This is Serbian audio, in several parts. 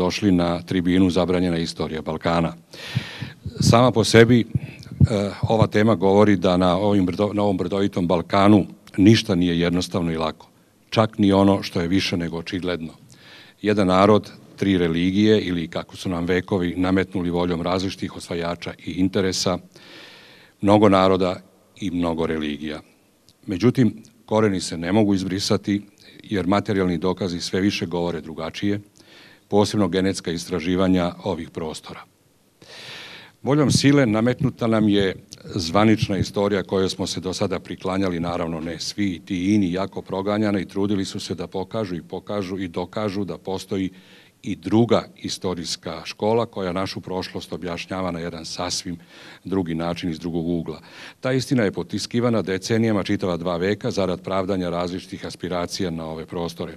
došli na tribinu Zabranjena istorija Balkana. Sama po sebi ova tema govori da na ovom brdovitom Balkanu ništa nije jednostavno i lako. Čak ni ono što je više nego očigledno. Jedan narod, tri religije ili kako su nam vekovi nametnuli voljom različitih osvajača i interesa, mnogo naroda i mnogo religija. Međutim, koreni se ne mogu izbrisati jer materijalni dokazi sve više govore drugačije, posebno genetska istraživanja ovih prostora. Voljom sile nametnuta nam je zvanična istorija kojoj smo se do sada priklanjali, naravno ne svi, ti ini jako proganjani i trudili su se da pokažu i dokažu da postoji i druga istorijska škola koja našu prošlost objašnjava na jedan sasvim drugi način iz drugog ugla. Ta istina je potiskivana decenijama, čitava 2 veka, zarad pravdanja različitih aspiracija na ove prostore.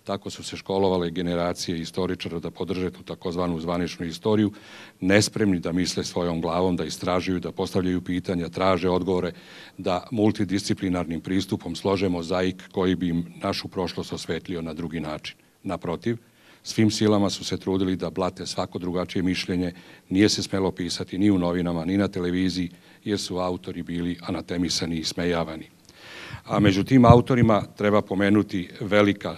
Tako su se školovale generacije istoričara da podrže tu takozvanu zvaničnu istoriju, nespremni da misle svojom glavom, da istražuju, da postavljaju pitanja, traže odgovore, da multidisciplinarnim pristupom slože mozaik koji bi im našu prošlost osvetlio na drugi način. Naprotiv, svim silama su se trudili da blate svako drugačije mišljenje, nije se smelo pisati ni u novinama, ni na televiziji, jer su autori bili anatemisani i smejavani. A među tim autorima treba pomenuti velika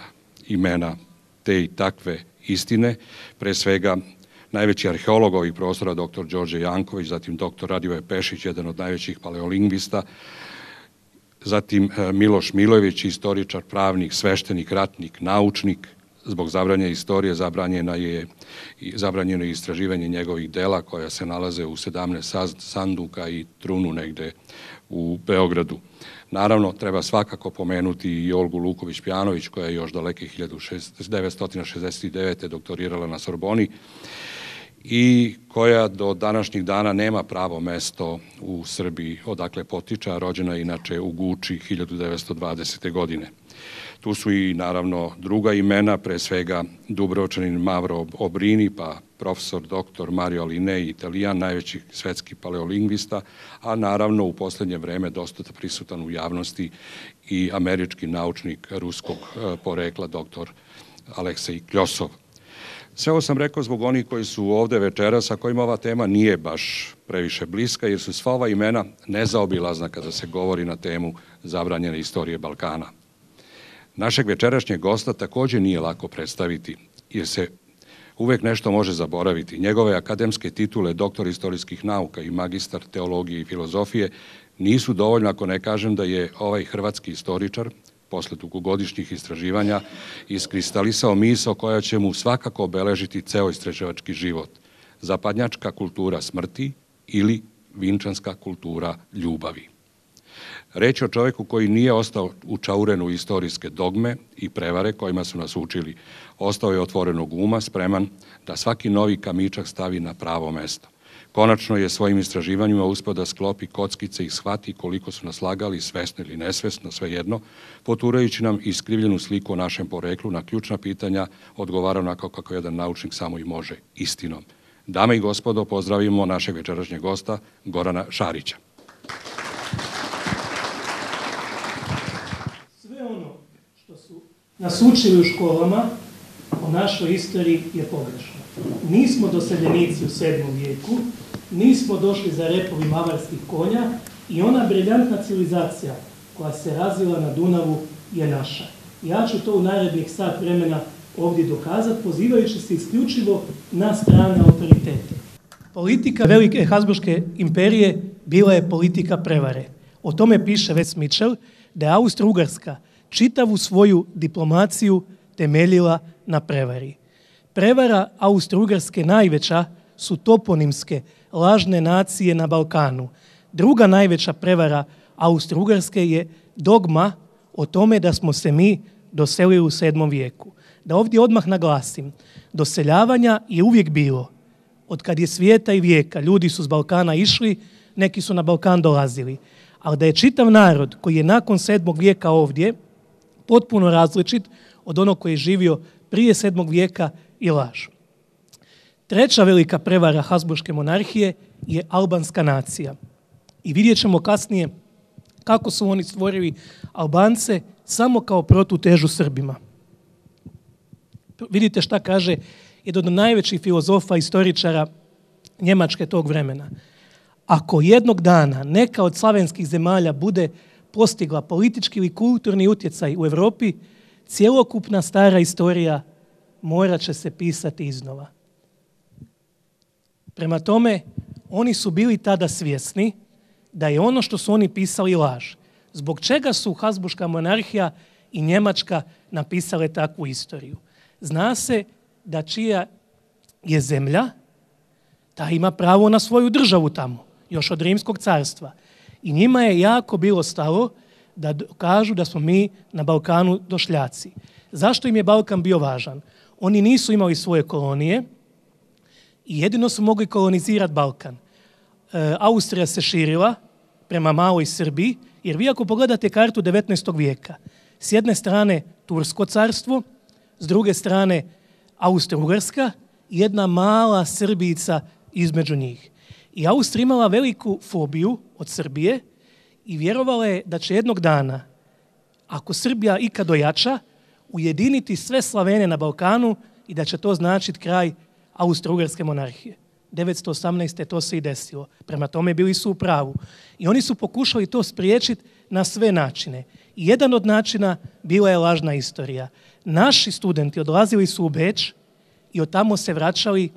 imena te i takve istine, pre svega najveći arheolog ovih prostora, dr. Đorđe Janković, zatim dr. Radivoje Pešić, jedan od najvećih paleolingvista, zatim Miloš Milojević, istoričar, pravnik, sveštenik, ratnik, naučnik. Zbog zabranjene istorije zabranjeno je istraživanje njegovih dela koja se nalaze u 17 sanduka i trunu negde u Beogradu. Naravno, treba svakako pomenuti i Olgu Luković-Pjanović koja je još daleke 1969. doktorirala na Sorboni i koja do današnjih dana nema pravo mesto u Srbiji, odakle potiče, a rođena je inače u Guči 1920. godine. Tu su i naravno druga imena, pre svega Dubrovčanin Mavro Obrini, pa profesor dr. Mario Linei, Italijan, najveći svetski paleolingvista, a naravno u poslednje vreme dosta prisutan u javnosti i američki naučnik ruskog porekla dr. Aleksej Kljosov. Sve ovo sam rekao zbog onih koji su ovde večeras, a kojima ova tema nije baš previše bliska, jer su sva ova imena nezaobilazna kada se govori na temu zabranjene istorije Balkana. Našeg večerašnjeg gosta takođe nije lako predstaviti, jer se uvek nešto može zaboraviti. Njegove akademske titule doktor istorijskih nauka i magistar teologije i filozofije nisu dovoljno ako ne kažem da je ovaj hrvatski istoričar posle dugogodišnjih istraživanja iskristalisao misao koja će mu svakako obeležiti ceo istraživački život. Zapadnjačka kultura smrti ili vinčanska kultura ljubavi. Reč je o čoveku koji nije ostao učauren u istorijske dogme i prevare kojima su nas učili. Ostao je otvorenog uma, spreman da svaki novi kamičak stavi na pravo mesto. Konačno je svojim istraživanjima uspeo da sklopi kockice i shvati koliko su nas lagali, svesno ili nesvesno, svejedno, poturajući nam iskrivljenu sliku o našem poreklu, na ključna pitanja odgovara onako kako jedan naučnik samo i može, istinom. Dame i gospodo, pozdravimo našeg večerašnjeg gosta, Gorana Šarića. Sve ono što su nas učili u školama o našoj istoriji je pogrešno. Nismo doseljenici u 7. vijeku, nismo došli za repovima avarskih konja i ona briljantna civilizacija koja se razvila na Dunavu je naša. Ja ću to u narednih sat vremena ovdje dokazati, pozivajući se isključivo na strane autoritete. Politika velike Habsburške imperije bila je politika prevare. O tome piše Wes Mitchell da je Austro-Ugarska čitavu svoju diplomaciju temeljila na prevari. Prevara Austro-Ugarske najveća su toponimske, lažne nacije na Balkanu. Druga najveća prevara Austro-Ugarske je dogma o tome da smo se mi doselili u 7. vijeku. Da ovdje odmah naglasim, doseljavanja je uvijek bilo. Od kad je svijeta i vijeka, ljudi su s Balkana išli, neki su na Balkan dolazili. Ali da je čitav narod koji je nakon 7. vijeka ovdje potpuno različit od onog koji je živio prije 7. vijeka i laž. Treća velika prevara Habsburške monarhije je albanska nacija. I vidjet ćemo kasnije kako su oni stvorili Albance samo kao protutežu Srbima. Vidite šta kaže jedan od najvećih filozofa, istoričara Njemačke tog vremena. Ako jednog dana neka od slavenskih zemalja bude postigla politički ili kulturni utjecaj u Europi, cjelokupna stara istorija morat će se pisati iznova. Prema tome, oni su bili tada svjesni da je ono što su oni pisali laž. Zbog čega su Habsburška monarhija i Njemačka napisale takvu istoriju? Zna se da čija je zemlja, ta ima pravo na svoju državu tamo, još od Rimskog carstva. I njima je jako bilo stalo da kažu da smo mi na Balkanu došljaci. Zašto im je Balkan bio važan? Oni nisu imali svoje kolonije i jedino su mogli kolonizirati Balkan. Austrija se širila prema maloj Srbiji, jer vi ako pogledate kartu 19. vijeka, s jedne strane Tursko carstvo, s druge strane Austro-Ugarska i jedna mala Srbijica između njih. I Austrija imala veliku fobiju od Srbije i vjerovala je da će jednog dana, ako Srbija ikad ojača, ujediniti sve Slavene na Balkanu i da će to značiti kraj Austro-Ugarske monarhije. 918. to se i desilo. Prema tome bili su u pravu. I oni su pokušali to spriječiti na sve načine. I jedan od načina bila je lažna istorija. Naši studenti odlazili su u Beč i od tamo se vraćali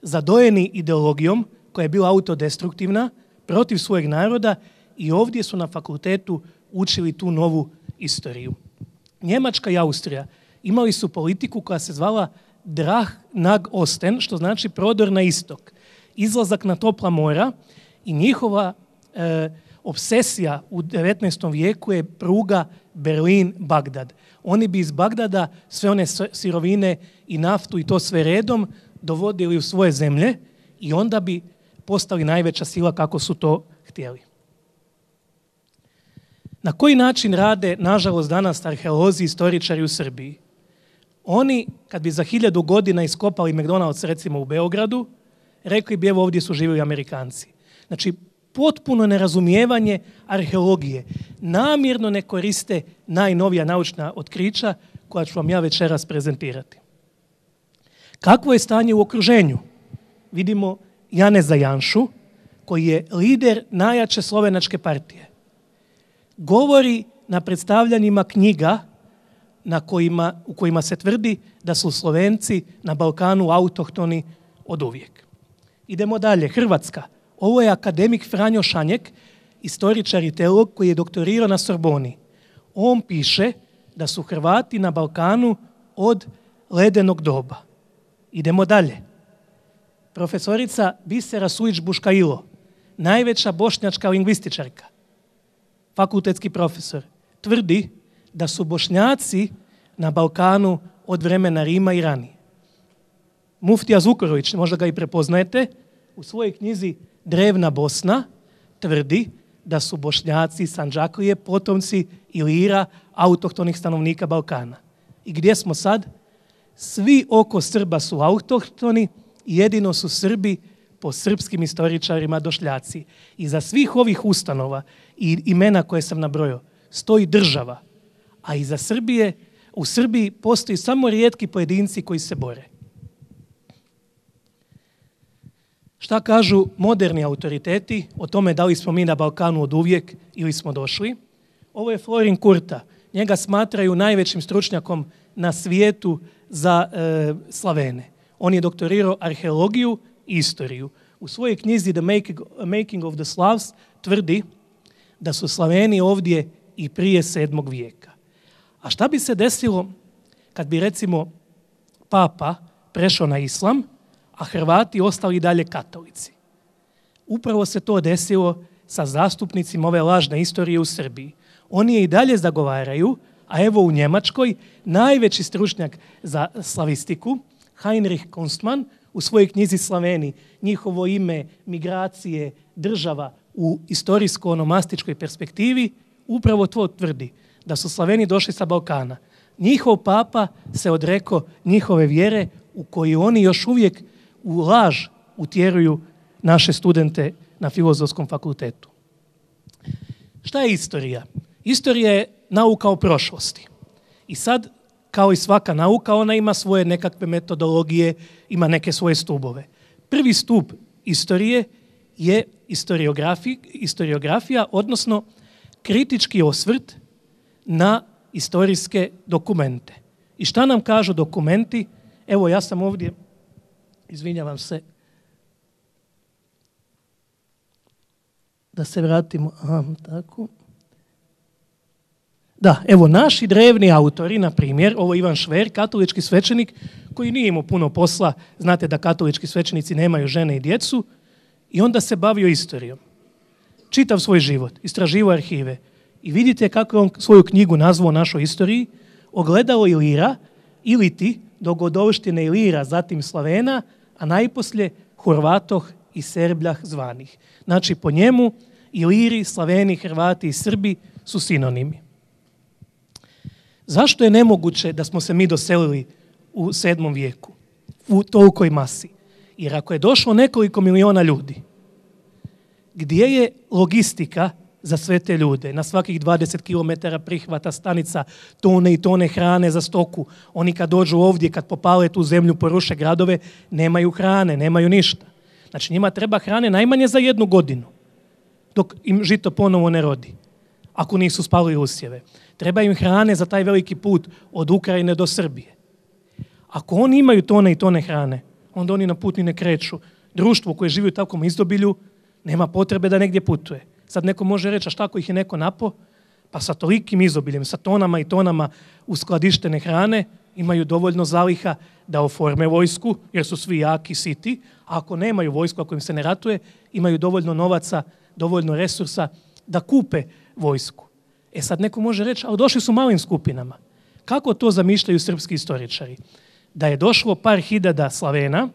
zadojeni ideologijom koja je bila autodestruktivna protiv svojeg naroda i ovdje su na fakultetu učili tu novu istoriju. Njemačka i Austrija imali su politiku koja se zvala Drah nach Osten, što znači prodor na istok, izlazak na topla mora i njihova obsesija u 19. vijeku je pruga Berlin-Bagdad. Oni bi iz Bagdada sve one sirovine i naftu i to sve redom dovodili u svoje zemlje i onda bi postali najveća sila kako su to htjeli. Na koji način rade, nažalost, danas arheolozi i istoričari u Srbiji? Oni, kad bi za 1000 godina iskopali McDonald's recimo u Beogradu, rekli bi evo ovdje su živjeli Amerikanci. Znači, potpuno nerazumijevanje arheologije. Namjerno ne koriste najnovija naučna otkrića koja ću vam ja večeras prezentirati. Kakvo je stanje u okruženju? Vidimo Janeza Janšu, koji je lider najjače slovenačke partije. Govori na predstavljanjima knjiga u kojima se tvrdi da su Slovenci na Balkanu autohtoni od uvijek. Idemo dalje. Hrvatska. Ovo je akademik Franjo Šanjek, istoričar i teolog koji je doktorirao na Sorboni. On piše da su Hrvati na Balkanu od ledenog doba. Idemo dalje. Profesorica Bisera Sujić-Buškailo, najveća bošnjačka lingvističarka, fakultetski profesor, tvrdi da su Bošnjaci na Balkanu od vremena Rima i ranije. Muftija Zukorović, možda ga i prepoznajete, u svojoj knjizi Drevna Bosna tvrdi da su Bošnjaci Sandžaklije potomci Ilira, autohtonih stanovnika Balkana. I gdje smo sad? Svi oko Srba su autohtoni, jedino su Srbi po srpskim istoričarima došljaci. I za svih ovih ustanova i imena koje sam nabrojao stoji država, a iza Srbije, u Srbiji postoji samo rijetki pojedinci koji se bore. Šta kažu moderni autoriteti o tome da li smo mi na Balkanu od uvijek ili smo došli? Ovo je Florin Kurta. Njega smatraju najvećim stručnjakom na svijetu za Slavene. On je doktorirao arheologiju i istoriju. U svojoj knjizi The Making of the Slavs tvrdi da su Slaveni ovdje i prije 7. vijeka. A šta bi se desilo kad bi recimo Papa prešao na islam, a Hrvati ostali dalje katolici? Upravo se to desilo sa zastupnicima ove lažne istorije u Srbiji. Oni je i dalje zagovaraju, a evo u Njemačkoj najveći stručnjak za slavistiku, Heinrich Kunstmann, u svojoj knjizi Slaveni, njihovo ime, migracije, država u istorijsko-onomastičkoj perspektivi, upravo to tvrdi, da su Slaveni došli sa Balkana. Njihov papa se odrekao njihove vjere u koju oni još uvijek u laž utjeruju naše studente na Filozofskom fakultetu. Šta je istorija? Istorija je nauka o prošlosti. I sad, kao i svaka nauka, ona ima svoje nekakve metodologije, ima neke svoje stubove. Prvi stup istorije je historiografija, odnosno kritički osvrt na istorijske dokumente. I šta nam kažu dokumenti? Evo, ja sam ovdje, izvinjavam se, da se vratimo, tako. Da, evo, naši drevni autori, na primjer, ovo je Ivan Šver, katolički svećenik koji nije imao puno posla, znate da katolički svećenici nemaju žene i djecu, i onda se bavio istorijom. Čitav svoj život, istraživao arhive. I vidite kako je on svoju knjigu nazvao našoj istoriji, Ogledalo Ilira, iliti dogodovštine Ilira, zatim Slavena, a najposlije Horvatoh i Serbljah zvanih. Znači, po njemu Iliri, Slaveni, Hrvati i Srbi su sinonimi. Zašto je nemoguće da smo se mi doselili u 7. vijeku u tolikoj masi? Jer ako je došlo nekoliko miliona ljudi, gdje je logistika za sve te ljude? Na svakih 20 km prihvata stanica, tone i tone hrane za stoku. Oni kad dođu ovdje, kad popale tu zemlju, poruše gradove, nemaju hrane, nemaju ništa. Znači njima treba hrane najmanje za 1 godinu, dok im žito ponovo ne rodi, ako nisu spalili usjeve. Treba im hrane za taj veliki put od Ukrajine do Srbije. Ako oni imaju tone i tone hrane, onda oni na put ni ne kreću. Društvo koje živi u takvom izobilju nema potrebe da negdje putuje. Sad neko može reći, a šta ako ih je neko napo? Pa sa tolikim izobiljem, sa tonama i tonama uskladištene hrane, imaju dovoljno zaliha da oforme vojsku, jer su svi jaki, siti. A ako nemaju vojsku, ako im se ne ratuje, imaju dovoljno novaca, dovoljno resursa da kupe vojsku. E sad neko može reći, ali došli su malim skupinama. Kako to zamišljaju srpski istoričari? Da je došlo par hiljada Slavena,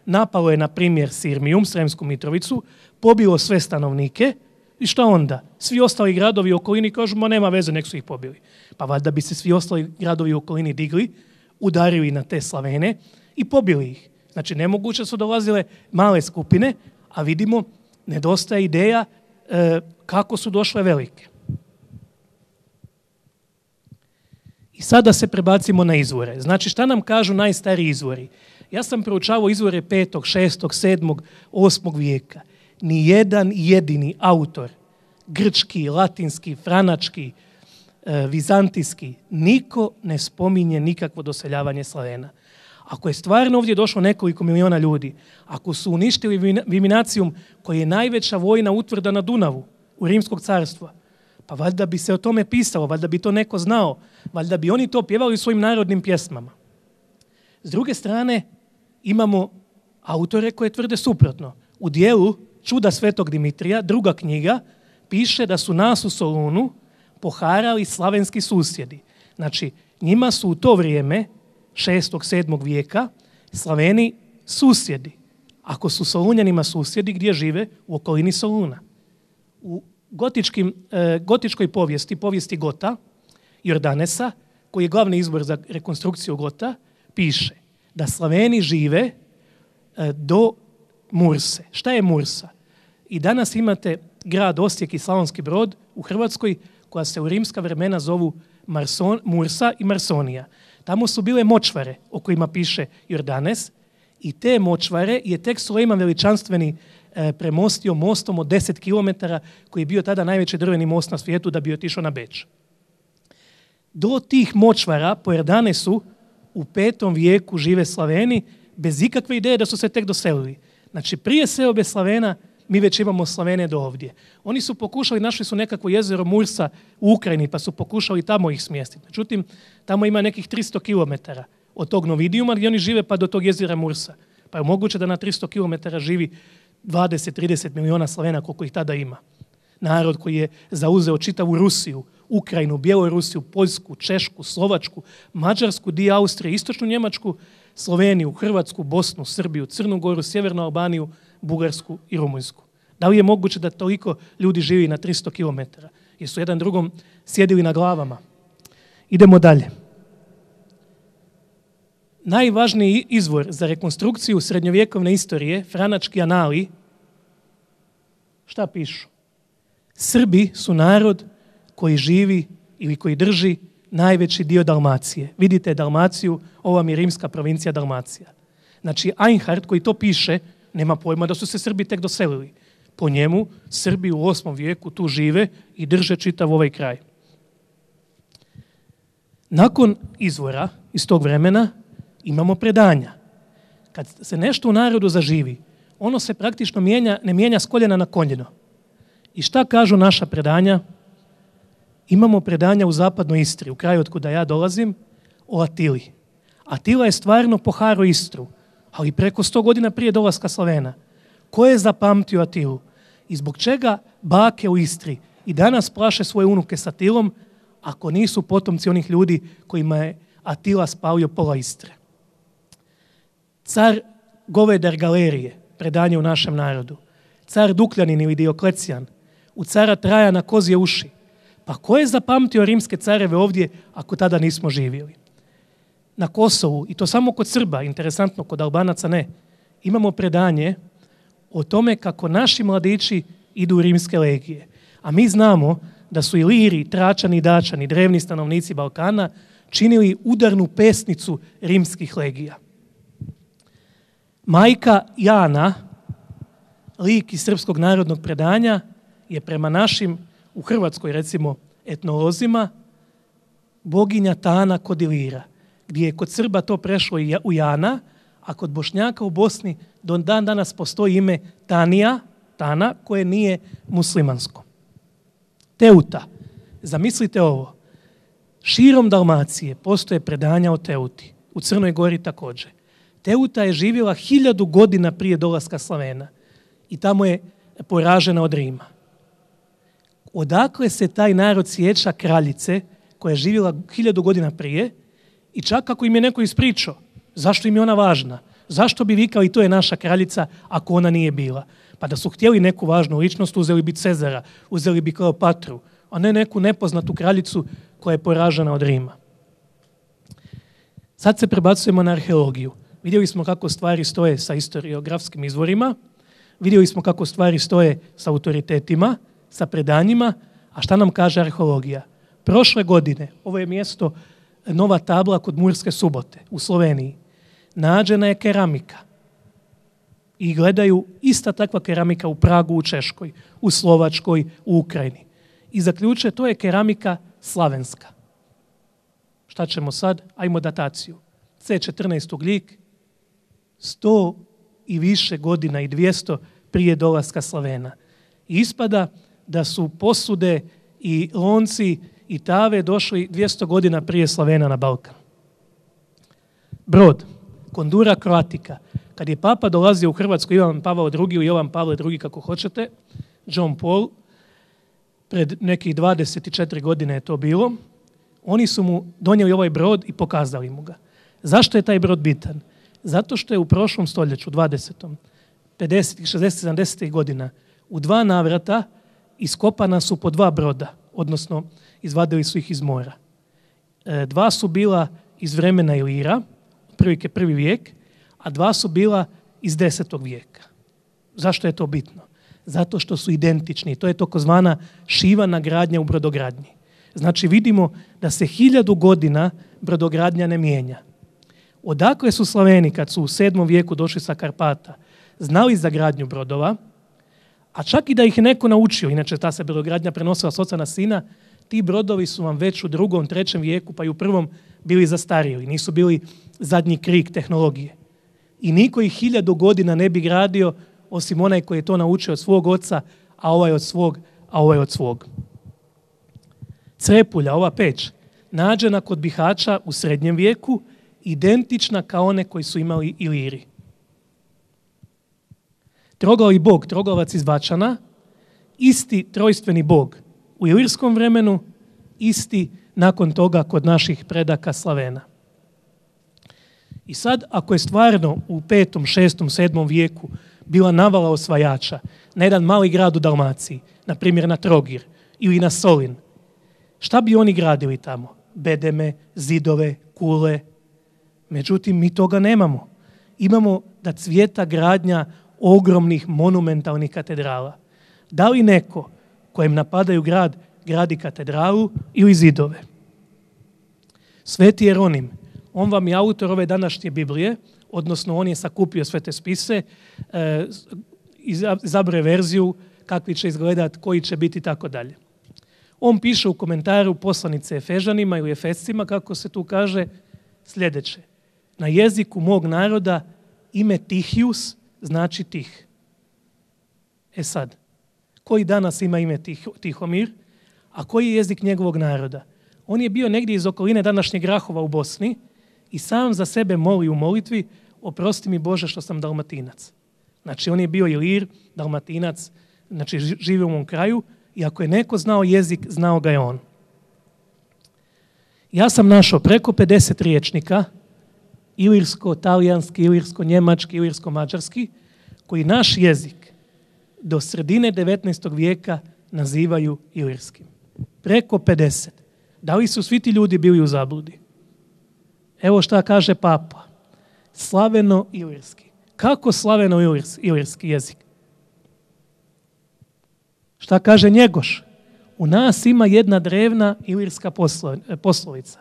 napalo je, na primjer, Sirmijum, Sremsku Mitrovicu, pobilo sve stanovnike i šta onda? Svi ostali gradovi u okolini kažu, ma nema veze, nek su ih pobili. Pa valjda bi se svi ostali gradovi u okolini digli, udarili na te Slavene i pobili ih. Znači, nemoguće su dolazile male skupine, a vidimo, nedostaje ideja kako su došle velike. I sada se prebacimo na izvore. Znači, šta nam kažu najstariji izvori? Ja sam proučavao izvore 5., 6., 7., 8. vijeka. Ni jedan jedini autor, grčki, latinski, franački, vizantijski, niko ne spominje nikakvo doseljavanje Slavena. Ako je stvarno ovdje došlo nekoliko miliona ljudi, ako su uništili Viminacijum, koji je najveća vojna utvrda na Dunavu u Rimskog carstva, pa valjda bi se o tome pisalo, valjda bi to neko znao, valjda bi oni to pjevali svojim narodnim pjesmama. S druge strane, imamo autore koje tvrde suprotno. U dijelu Čuda svetog Dimitrija, 2. knjiga, piše da su nas u Solunu poharali slavenski susjedi. Znači, njima su u to vrijeme, 6. 7. vijeka, Slaveni susjedi. Ako su Solunjanima susjedi, gdje žive? U okolini Soluna. U gotičkoj povijesti Gota, Jordanesa, koji je glavni izvor za rekonstrukciju Gota, piše da Slaveni žive do Murse. Šta je Mursa? I danas imate grad Osijek i Slavonski Brod u Hrvatskoj, koja se u rimska vremena zovu Mursa i Marsonija. Tamo su bile močvare o kojima piše Jordanes i te močvare je tek Sulejman Veličanstveni premostio mostom od 10 km koji je bio tada najveći drveni most na svijetu da bi otišao na Beč. Do tih močvara po Jordanesu u 5. vijeku žive Slaveni bez ikakve ideje da su se tek doselili. Znači prije seobe Slavena mi već imamo Slavene do ovdje. Oni su pokušali, našli su nekakvo jezero Mursa u Ukrajini pa su pokušali tamo ih smjestiti. Međutim, tamo ima nekih 300 km od tog Novidijuma gdje oni žive pa do tog jezera Mursa. Pa je moguće da na 300 km živi 20-30 miliona Slavena koliko ih tada ima. Narod koji je zauzeo čitavu Rusiju, Ukrajinu, Bjelorusiju, Poljsku, Češku, Slovačku, Mađarsku, dio Austrije, Istočnu Njemačku, Sloveniju, Hrvatsku, Bosnu, Srbiju, Crnu Goru, Sjevernu Albaniju, Bugarsku i Rumunjsku. Da li je moguće da toliko ljudi živi na 300 km? Jer su jedan drugom sjedili na glavama. Idemo dalje. Najvažniji izvor za rekonstrukciju srednjovjekovne istorije, franački anali, šta pišu? Srbi su narod koji živi ili koji drži najveći dio Dalmacije. Vidite Dalmaciju, ovo vam je rimska provincija Dalmacija. Znači, Einhard koji to piše, nema pojma da su se Srbi tek doselili. Po njemu, Srbi u 8. vijeku tu žive i drže čitav ovaj kraj. Nakon izvora iz tog vremena imamo predanja. Kad se nešto u narodu zaživi, ono se praktično ne mijenja s koljena na koljeno. I šta kažu naša predanja? Imamo predanja u zapadnoj Istri, u kraju od kuda ja dolazim, o Atili. Atila je stvarno poharao Istru, ali preko 100 godina prije dolaska Slavena. Ko je zapamtio Atilu? I zbog čega bake u Istri i danas plaše svoje unuke s Atilom, ako nisu potomci onih ljudi kojima je Atila spalio pola Istre? Car Govedar Galerije, predanje u našem narodu. Car Dukljanin ili Dioklecijan, u cara Trajana kozje uši. Pa ko je zapamtio rimske careve ovdje ako tada nismo živjeli? Na Kosovu, i to samo kod Srba, interesantno, kod Albanaca ne, imamo predanje o tome kako naši mladići idu u rimske legije. A mi znamo da su Iliri, Tračani i Dačani, drevni stanovnici Balkana, činili udarnu pesnicu rimskih legija. Majka Jana, lik iz srpskog narodnog predanja, je prema našim, u Hrvatskoj recimo, etnolozima, boginja Tana kod Ilira, gdje je kod Srba to prešlo u Jana, a kod Bošnjaka u Bosni do dan danas postoji ime Tana, koje nije muslimansko. Teuta. Zamislite ovo. Širom Dalmacije postoje predanja o Teuti. U Crnoj Gori također. Teuta je živjela 1000 godina prije dolaska Slavena i tamo je poražena od Rima. Odakle se taj narod sjeća kraljice koja je živjela 1000 godina prije i čak ako im je neko ispričao, zašto im je ona važna? Zašto bi vikali to je naša kraljica ako ona nije bila? Pa da su htjeli neku važnu ličnost, uzeli bi Cezara, uzeli bi Kleopatru, a ne neku nepoznatu kraljicu koja je poražena od Rima. Sad se prebacujemo na arheologiju. Vidjeli smo kako stvari stoje sa historiografskim izvorima, vidjeli smo kako stvari stoje sa autoritetima, sa predanjima, a šta nam kaže arheologija? Prošle godine, ovo je mjesto, nova tabla kod Murske Subote u Sloveniji, nađena je keramika. I gledaju ista takva keramika u Pragu, u Češkoj, u Slovačkoj, u Ukrajini. I zaključe, to je keramika slavenska. Šta ćemo sad? Ajmo dataciju. C14 Ugljik, 100 i više godina i 200 prije dolaska Slavena. I ispada da su posude i lonci i tave došli 200 godina prije Slavena na Balkan. Brod, Kondura Croatica. Kad je papa dolazio u Hrvatsku, Ivan Pavao II ili Jovan Pavle II, kako hoćete, John Paul, pred nekih 24 godine je to bilo, oni su mu donijeli ovaj brod i pokazali mu ga. Zašto je taj brod bitan? Zato što je u prošlom stoljeću, 20. 50. 60. 70. godina, u 2 navrata iskopana su po 2 broda, odnosno izvadili su ih iz mora. 2 su bila iz vremena Ilira, otprilike 1. vijek, a 2 su bila iz 10. vijeka. Zašto je to bitno? Zato što su identični. To je takozvana šivana gradnja u brodogradnji. Znači vidimo da se 1000 godina brodogradnja ne mijenja. Odakle su Slaveni kad su u 7. vijeku došli sa Karpata znali za gradnju brodova, a čak i da ih je neko naučio, inače ta se brodogradnja prenosila s oca na sina, ti brodovi su vam već u 2., 3. vijeku pa i u 1. bili zastarjeli, nisu bili zadnji krik tehnologije. I niko ih 1000 godina ne bi gradio osim onaj koji je to naučio od svog oca, a ovaj od svog, a ovaj od svog. Crepulja, ova peć, nađena kod Bihaća u srednjem vijeku, identična kao one koji su imali Iliri. Troglavi bog, troglavac iz Bačana, isti trojstveni bog u ilirskom vremenu, isti nakon toga kod naših predaka Slavena. I sad, ako je stvarno u 5., 6., 7. vijeku bila navala osvajača na jedan mali grad u Dalmaciji, na primjer na Trogir ili na Solin, šta bi oni gradili tamo? Bedeme, zidove, kule. Međutim, mi toga nemamo. Imamo da cvijeta gradnja ogromnih monumentalnih katedrala. Da li neko kojem napadaju grad gradi katedralu ili zidove? Sveti Jeronim, on vam je autor ove današnje Biblije, odnosno on je sakupio sve te spise, izabrao verziju, kakvi će izgledati, koji će biti i tako dalje. On piše u komentaru poslanice Efežanima ili Efescima, kako se tu kaže, sljedeće. Na jeziku mog naroda ime Tihius znači tih. E sad, koji danas ima ime Tihomir, a koji je jezik njegovog naroda? On je bio negdje iz okoline današnjeg Rahova u Bosni i sam za sebe moli u molitvi: oprosti mi Bože što sam Dalmatinac. Znači on je bio Ilir, Dalmatinac, znači živio u mom kraju i ako je neko znao jezik, znao ga je on. Ja sam našao preko 50 riječnika, ilirsko-talijanski, ilirsko-njemački, ilirsko-mađarski, koji naš jezik do sredine 19. vijeka nazivaju ilirskim. Preko 50. Da li su svi ti ljudi bili u zabludi? Evo šta kaže Papa. Slaveno-ilirski. Kako slaveno-ilirski jezik? Šta kaže Njegoš? U nas ima jedna drevna ilirska poslovica.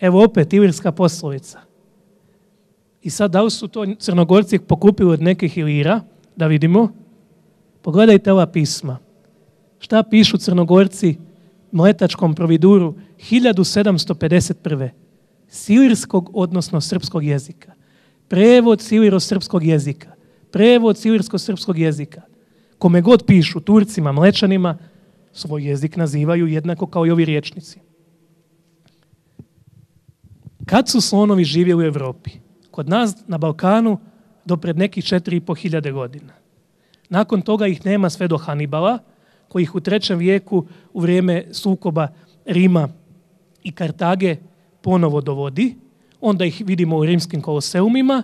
Evo opet ilirska poslovica. I sad da li su to Crnogorci pokupili od nekih Ilira? Da vidimo. Pogledajte ova pisma. Šta pišu Crnogorci mletačkom providuru 1751. s ilirskog, odnosno srpskog jezika. Prevod s iliro-srpskog jezika. Prevod s ilirsko-srpskog jezika. Kome god pišu, Turcima, Mlečanima, svoj jezik nazivaju jednako kao i ovi riječnici. Kad su slonovi živjeli u Europi? Kod nas na Balkanu do pred nekih 4.500 godina. Nakon toga ih nema sve do Hanibala, koji ih u 3. vijeku u vrijeme sukoba Rima i Kartage ponovo dovodi. Onda ih vidimo u rimskim koloseumima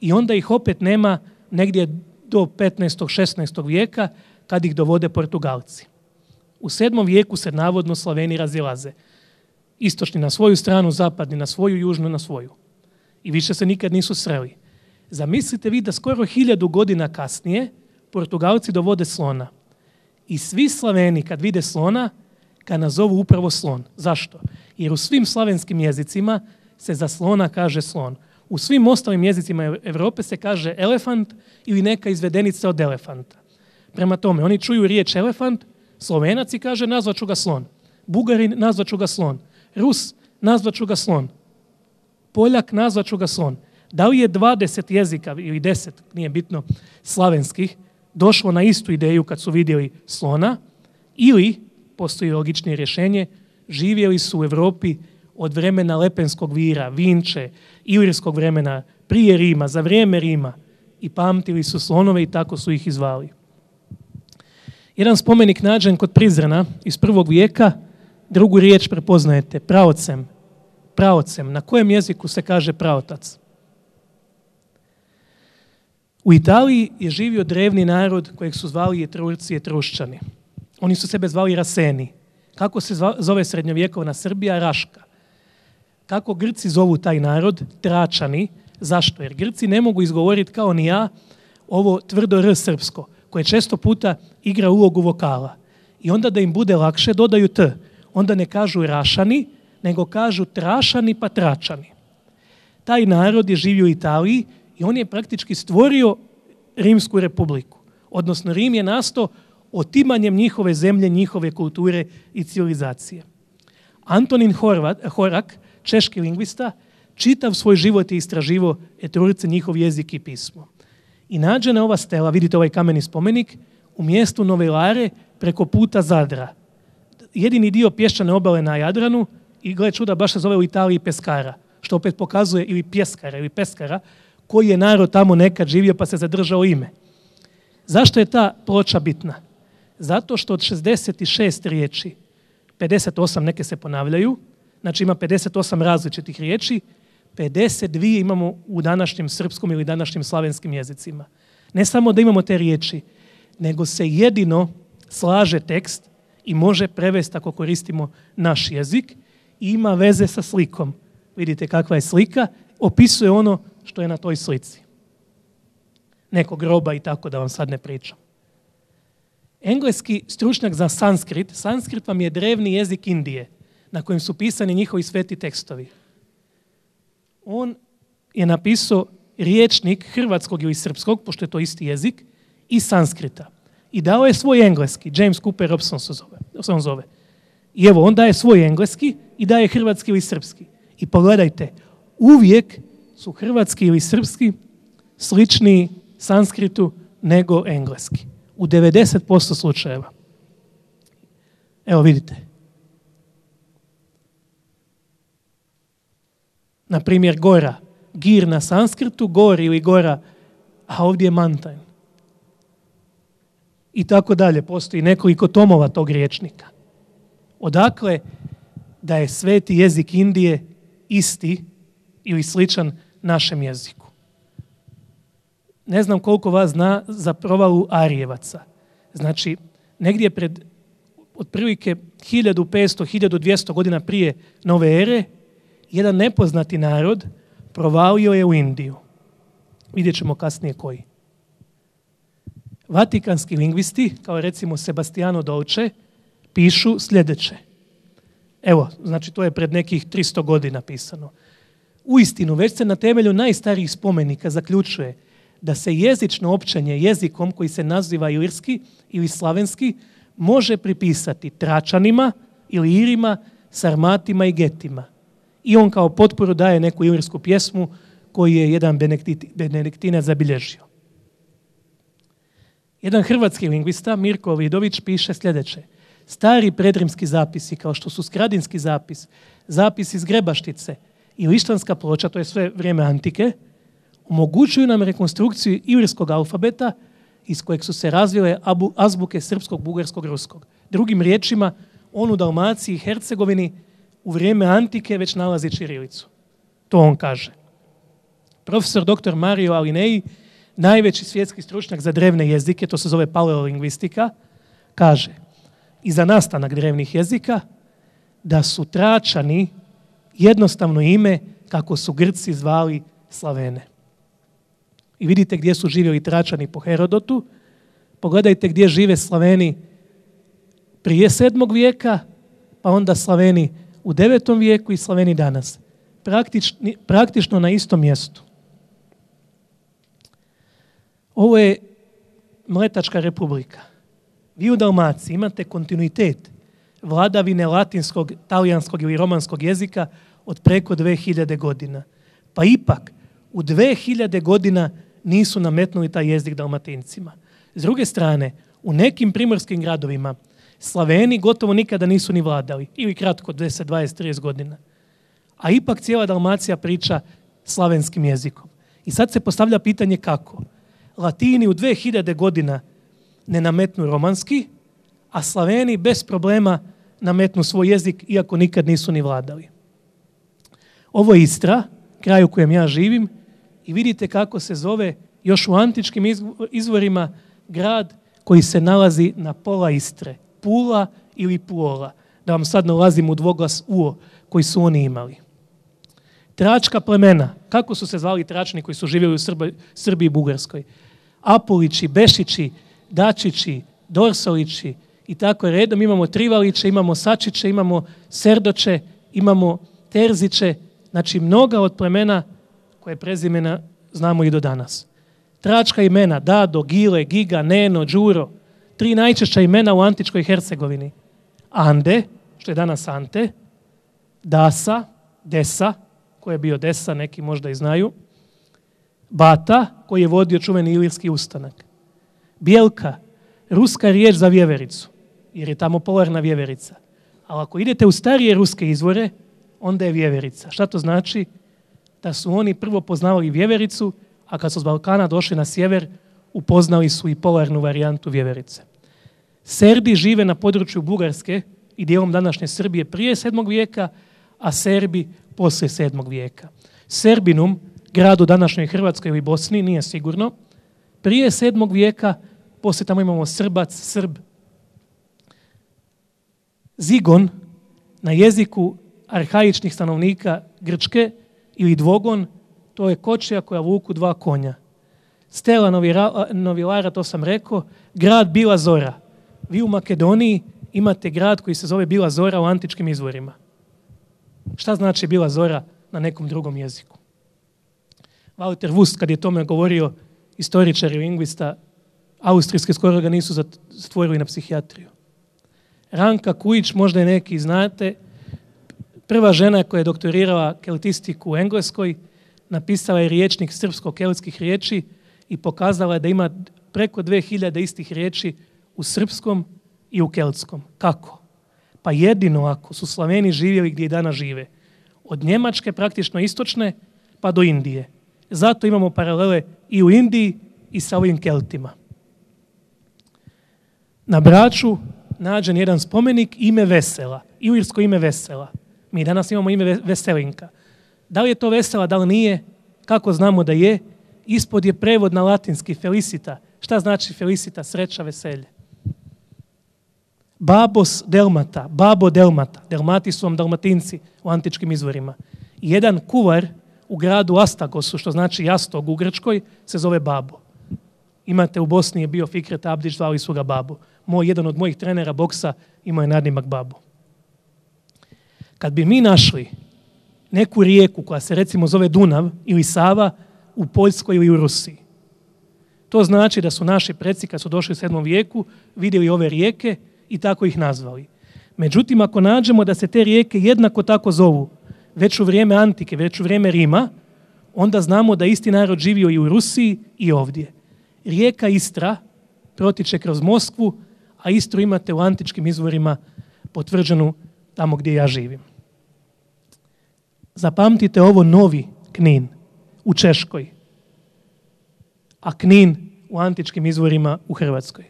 i onda ih opet nema negdje do 15. 16. vijeka kad ih dovode Portugalci. U 7. vijeku se navodno Slaveni razilaze. Istočni na svoju stranu, zapadni na svoju, južnu na svoju. I više se nikad nisu sreli. Zamislite vi da skoro 1000 godina kasnije Portugalci dovode slona. I svi Slaveni kad vide slona, ga nazovu upravo slon. Zašto? Jer u svim slavenskim jezicima se za slona kaže slon. U svim ostalim jezicima Europe se kaže elefant ili neka izvedenica od elefanta. Prema tome, oni čuju riječ elefant, Slovenac i kaže nazvaću ga slon. Bugarin nazvaću ga slon. Rus nazvaću ga slon. Poljak nazvaću ga slon. Da li je 20 jezika ili 10, nije bitno, slavenskih, došlo na istu ideju kad su vidjeli slona ili, postoji logičnije rješenje, živjeli su u Europi od vremena Lepenskog vira, Vinče, ilirskog vremena, prije Rima, za vrijeme Rima i pamtili su slonove i tako su ih i zvali. Jedan spomenik nađen kod Prizrena iz 1. vijeka, drugu riječ prepoznajete, praocem. Praocem. Na kojem jeziku se kaže praotac? U Italiji je živio drevni narod kojeg su zvali Etrurci i Etruščani. Oni su sebe zvali Raseni. Kako se zove srednjovjekovna Srbija? Raška. Kako Grci zovu taj narod? Tračani. Zašto? Jer Grci ne mogu izgovoriti kao ni ja ovo tvrdo R srpsko, koje često puta igra ulogu vokala. I onda da im bude lakše dodaju T. Onda ne kažu Rašani, nego kažu Trašani pa Tračani. Taj narod je živio u Italiji i on je praktički stvorio Rimsku republiku. Odnosno Rim je nastao otimanjem njihove zemlje, njihove kulture i civilizacije. Antonin Horak, češki lingvista, čitav svoj život je istraživao Etrurce, njihov jezik i pismo. I nađena ova stela, vidite ovaj kameni spomenik, u mjestu Novelare preko puta Zadra. Jedini dio pješčane obale na Jadranu i gle čuda baš se zove u Italiji Peskara, što opet pokazuje ili Pjeskara ili Peskara, koji je narod tamo nekad živio pa se zadržao ime. Zašto je ta ploča bitna? Zato što od 66 riječi, 58 neke se ponavljaju, znači ima 58 različitih riječi, 52 imamo u današnjem srpskom ili današnjim slavenskim jezicima. Ne samo da imamo te riječi, nego se jedino slaže tekst i može prevesti ako koristimo naš jezik i ima veze sa slikom. Vidite kakva je slika, opisuje ono što je na toj slici. Nekog groba i tako da vam sad ne pričam. Engleski stručnjak za sanskrit vam je drevni jezik Indije. na kojem su pisani njihovi sveti tekstovi. On je napisao rječnik hrvatskog ili srpskog, pošto je to isti jezik, i sanskrita. I dao je svoj engleski, James Cooper Robson se on zove. I evo, on daje svoj engleski i daje hrvatski ili srpski. I pogledajte, uvijek su hrvatski ili srpski sličniji sanskritu nego engleski. U 90% slučajeva. Evo vidite. Na primjer, gora. Gir na sanskritu, gor ili gora, a ovdje je mountain. I tako dalje. Postoji nekoliko tomova tog rječnika. Odakle da je sveti jezik Indije isti ili sličan našem jeziku? Ne znam koliko vas zna za provalu Arijevaca. Znači, negdje pred otprilike 1500-1200 godina prije nove ere, jedan nepoznati narod provalio je u Indiju. Vidjet ćemo kasnije koji. Vatikanski lingvisti, kao recimo Sebastiano Dolce, pišu sljedeće. Evo, znači to je pred nekih 300 godina pisano. Uistinu, već se na temelju najstarijih spomenika zaključuje da se jezično općenje jezikom koji se naziva ilirski ili slavenski može pripisati Tračanima ili Irima, Sarmatima i Getima. I on kao potporu daje neku ilirsku pjesmu koju je jedan benediktinac zabilježio. Jedan hrvatski lingvista, Mirko Vidović, piše sljedeće. Stari predrimski zapisi, kao što su Skradinski zapis, zapis iz Grebaštice i Lištanska ploča, to je sve vrijeme antike, omogućuju nam rekonstrukciju ilirskog alfabeta iz kojeg su se razvile azbuke srpskog, bugarskog, ruskog. Drugim riječima, on u Dalmaciji i Hercegovini u vrijeme antike već nalazi ćirilicu. To on kaže. Profesor dr. Mario Alineji, najveći svjetski stručnjak za drevne jezike, to se zove paleolingvistika, kaže i za nastanak drevnih jezika da su Tračani jednostavno ime kako su Grci zvali Slavene. I vidite gdje su živjeli Tračani po Herodotu. Pogledajte gdje žive Slaveni prije 7. vijeka, pa onda Slaveni u 9. vijeku i Slaveni danas. Praktično na istom mjestu. Ovo je Mletačka republika. Vi u Dalmaciji imate kontinuitet vladavine latinskog, talijanskog ili romanskog jezika od preko 2000 godina. Pa ipak u 2000 godina nisu nametnuli taj jezik Dalmatincima. S druge strane, u nekim primorskim gradovima Slaveni gotovo nikada nisu ni vladali, ili kratko 10, 20, 30 godina. A ipak cijela Dalmacija priča slavenskim jezikom. I sad se postavlja pitanje kako. Latini u 2000 godina ne nametnu romanski, a Slaveni bez problema nametnu svoj jezik, iako nikad nisu ni vladali. Ovo je Istra, kraj u kojem ja živim, i vidite kako se zove još u antičkim izvorima grad koji se nalazi na pola Istre. Pula ili Puola. Da vam sad ne ulazim u dvoglas uo koji su oni imali. Tračka plemena. Kako su se zvali Tračani koji su živjeli u Srbiji i Bugarskoj? Apulići, Bešići, Dačići, Dorsolići i tako redom. Imamo Trivaliće, imamo Sačiće, imamo Serdoće, imamo Terziće. Znači mnoga od plemena koje prezimena znamo i do danas. Tračka imena Dado, Gile, Giga, Neno, Đuro. 3 najčešća imena u antičkoj Hercegovini. Ande, što je danas Ante, Dasa, Desa, koji je bio Desa, neki možda i znaju, Bata, koji je vodio čuveni ilirski ustanak. Bijelka, ruska riječ za vjevericu, jer je tamo polarna vjeverica. Ali ako idete u starije ruske izvore, onda je vjeverica. Šta to znači? Da su oni prvo poznavali vjevericu, a kad su s Balkana došli na sjever, upoznali su i polarnu varijantu vjeverice. Serbi žive na području Bugarske i dijelom današnje Srbije prije 7. vijeka, a Serbi poslije 7. vijeka. Serbinum, grad u današnjoj Hrvatskoj ili Bosni, nije sigurno. Prije 7. vijeka, poslije tamo imamo Srbac, Srb. Zigon, na jeziku arhaičnih stanovnika Grčke, ili dvogon, to je kočija koja vuku 2 konja. Stela Novilara, to sam rekao, grad Bila Zora. Vi u Makedoniji imate grad koji se zove Bila Zora u antičkim izvorima. Šta znači bila zora na nekom drugom jeziku? Walter Wust, kad je tome govorio, istoričar i lingvista, austrijski skoro ga nisu zatvorili na psihijatriju. Ranka Kujić, možda i neki znate, prva žena koja je doktorirala keltistiku u Engleskoj, napisala je riječnik srpsko-keltskih riječi i pokazala je da ima preko 2000 istih riječi u srpskom i u keltskom. Kako? Pa jedino ako su Slaveni živjeli gdje i danas žive. Od Njemačke, praktično istočne, pa do Indije. Zato imamo paralele i u Indiji i sa ovim Keltima. Na Braču nađen jedan spomenik ime Vesela, ilirsko ime Vesela. Mi danas imamo ime Veselinka. Da li je to Vesela, da li nije? Kako znamo da je? Ispod je prevod na latinski felicita. Šta znači felicita? Sreća, veselje. Babos delmata, babo delmata. Delmati su vam Dalmatinci u antičkim izvorima. Jedan kuvar u gradu Astagosu, što znači jastog u Grčkoj, se zove Babo. Imate u Bosni je bio Fikret Abdić, zvali su ga Babo. Jedan od mojih trenera boksa imao je nadimak Babo. Kad bi mi našli neku rijeku koja se recimo zove Dunav ili Sava u Poljskoj ili u Rusiji, to znači da su naši preci kad su došli u 7. vijeku vidjeli ove rijeke i tako ih nazvali. Međutim, ako nađemo da se te rijeke jednako tako zovu već u vrijeme Antike, već u vrijeme Rima, onda znamo da isti narod živio i u Rusiji i ovdje. Rijeka Istra protiče kroz Moskvu, a Istru imate u antičkim izvorima potvrđenu tamo gdje ja živim. Zapamtite ovo, Novi Knin u Češkoj, a Knin u antičkim izvorima u Hrvatskoj.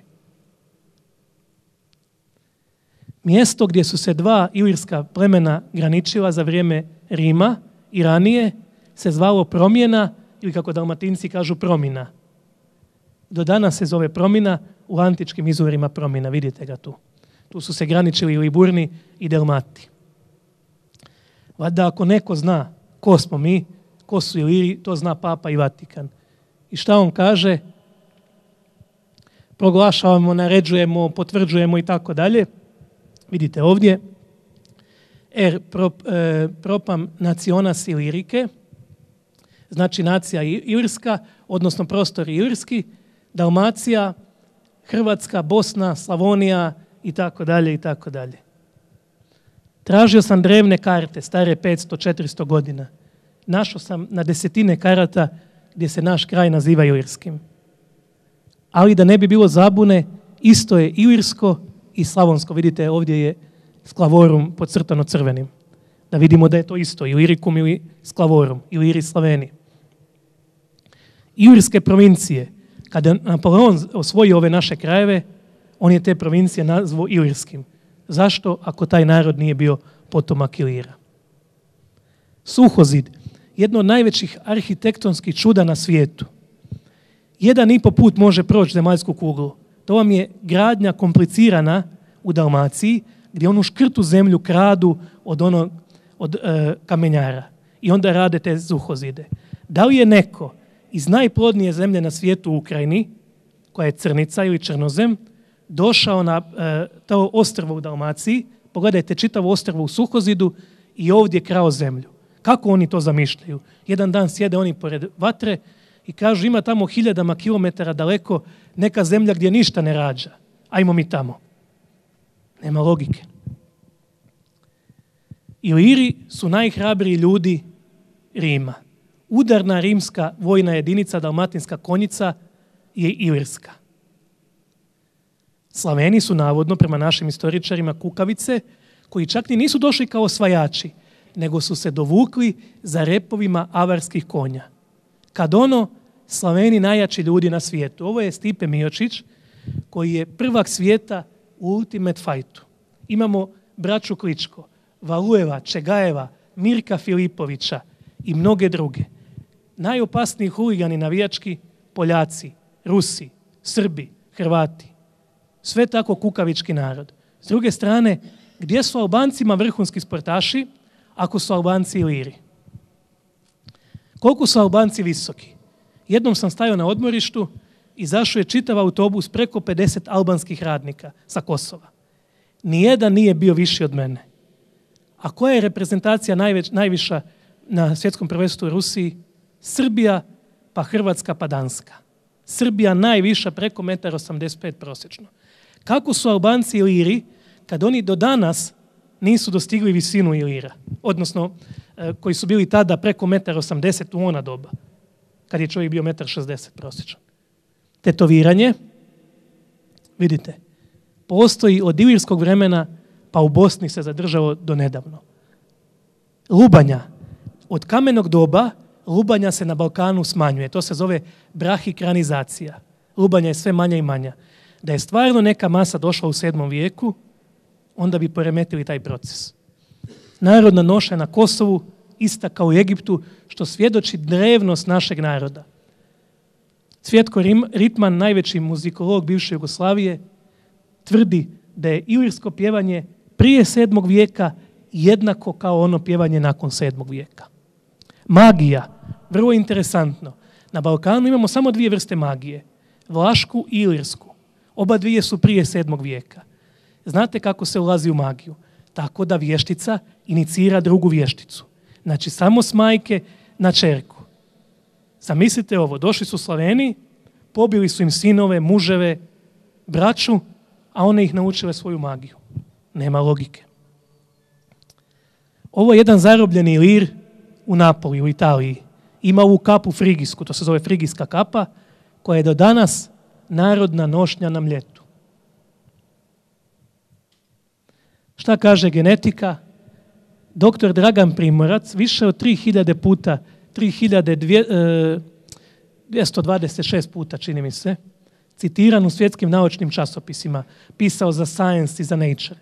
Mjesto gdje su se dva ilirska plemena graničila za vrijeme Rima i ranije se zvalo Promjena ili kako Dalmatinci kažu Promina. Do danas se zove Promina, u antičkim izvorima Promina, vidite ga tu. Tu su se graničili Liburni i Delmati. Valjda ako neko zna ko smo mi, ko su Iliri, to zna Papa i Vatikan. I šta on kaže? Proglašavamo, naređujemo, potvrđujemo i tako dalje. Vidite ovdje, propam nacionas ilirike, znači nacija ilirska, odnosno prostor ilirski, Dalmacija, Hrvatska, Bosna, Slavonija i tako dalje i tako dalje. Tražio sam drevne karte, stare 500-400 godina. Našao sam na desetine karata gdje se naš kraj naziva ilirskim. Ali da ne bi bilo zabune, isto je ilirsko i slavonsko. Vidite, ovdje je Sklavorum podcrtano crvenim. Da vidimo da je to isto, Ilirikum ili Sklavorum, Iliri Slaveni. Ilirske provincije, kada Napoleon osvojio ove naše krajeve, on je te provincije nazvao ilirskim. Zašto, ako taj narod nije bio potomak Ilira? Suhozid, jedno od najvećih arhitektonskih čuda na svijetu. 1,5 put može proći zemaljsku kuglu. To vam je gradnja komplicirana u Dalmaciji, gdje onu škrtu zemlju kradu od kamenjara. I onda rade te suhozide. Da li je neko iz najplodnije zemlje na svijetu u Ukrajini, koja je Crnica ili Črnozem, došao na to ostrvo u Dalmaciji, pogledajte čitavo ostrvo u suhozidu i ovdje krao zemlju. Kako oni to zamišljaju? Jedan dan sjede oni pored vatre i kažu ima tamo 1000 kilometara daleko neka zemlja gdje ništa ne rađa. Ajmo mi tamo. Nema logike. Iliri su najhrabriji ljudi Rima. Udarna rimska vojna jedinica, dalmatinska konjica, je ilirska. Slaveni su navodno, prema našim istoričarima, kukavice, koji čak ni nisu došli kao osvajači, nego su se dovukli za repovima avarskih konja. Kad Slaveni najjači ljudi na svijetu. Ovo je Stipe Miočić, koji je prvak svijeta u Ultimate Fightu. Imamo braću Kličko, Valujeva, Čegajeva, Mirka Filipovića i mnoge druge. Najopasniji huligani navijački, Poljaci, Rusi, Srbi, Hrvati. Sve tako kukavički narod. S druge strane, gdje su Albancima vrhunski sportaši ako su Albanci Iliri? Koliko su Albanci visoki? Jednom sam stajao na odmorištu i zašao je čitav autobus preko 50 albanskih radnika sa Kosova. Nijedan nije bio viši od mene. A koja je reprezentacija najviša na svjetskom prvenstvu u Rusiji? Srbija, pa Hrvatska, pa Danska. Srbija najviša preko 1,85 m prosječno. Kako su Albanci i Iliri, kad oni do danas nisu dostigli visinu Ilira, odnosno koji su bili tada preko 1,80 m u ona doba, kad je čovjek bio 1,60 m prosječan. Tetoviranje, vidite, postoji od ilirskog vremena, pa u Bosni se zadržalo do nedavno. Lubanja. Od kamenog doba lubanja se na Balkanu smanjuje. To se zove brahikranizacija. Lubanja je sve manja i manja. Da je stvarno neka masa došla u 7. vijeku, onda bi poremetili taj proces. Narodna noša na Kosovu, ista kao u Egiptu, što svjedoči drevnost našeg naroda. Cvjetko Ritman, najveći muzikolog bivše Jugoslavije, tvrdi da je ilirsko pjevanje prije 7. vijeka jednako kao ono pjevanje nakon 7. vijeka. Magija, vrlo interesantno. Na Balkanu imamo samo 2 vrste magije, vlašku i ilirsku. Oba dvije su prije 7. vijeka. Znate kako se ulazi u magiju? Tako da vještica inicira drugu vješticu. Znači samo s majke na čerku. Zamislite ovo, došli su Slaveni, pobili su im sinove, muževe, braću, a one ih naučile svoju magiju. Nema logike. Ovo je jedan zarobljeni lir u Napoli, u Italiji. Ima ovu kapu frigijsku, to se zove frigijska kapa, koja je do danas narodna nošnja na Mljetu. Šta kaže genetika? Doktor Dragan Primorac više od 3000 puta, 3226 puta, čini mi se, citiran u svjetskim naučnim časopisima, pisao za Science i za Nature.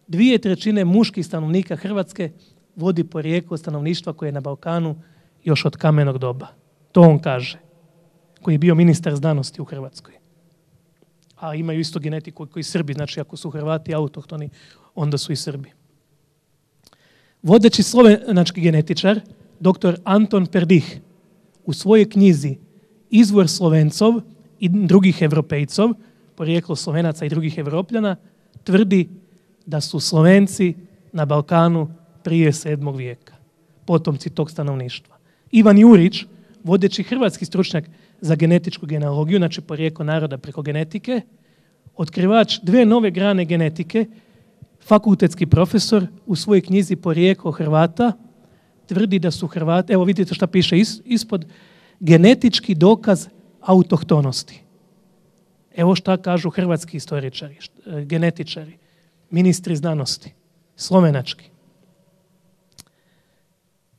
2/3 muških stanovnika Hrvatske vodi porijeklo stanovništva koje je na Balkanu još od kamenog doba. To on kaže, koji je bio ministar znanosti u Hrvatskoj. A imaju isto genetiku koji Srbi, znači ako su Hrvati autohtoni, onda su i Srbi. Vodeći slovenački genetičar, dr. Anton Perdih, u svojoj knjizi Izvor Slovencov i drugih Evropejcov, porijeklo Slovenaca i drugih Evropljana, tvrdi da su Slovenci na Balkanu prije 7. vijeka, potomci tog stanovništva. Ivan Jurić, vodeći hrvatski stručnjak za genetičku genealogiju, znači porijeklo naroda preko genetike, otkrivač 2 nove grane genetike, fakultetski profesor, u svojoj knjizi Porijeklo Hrvata, tvrdi da su Hrvati, evo vidite šta piše ispod, genetički dokaz autohtonosti. Evo šta kažu hrvatski istoričari, genetičari, ministri znanosti, slovenački.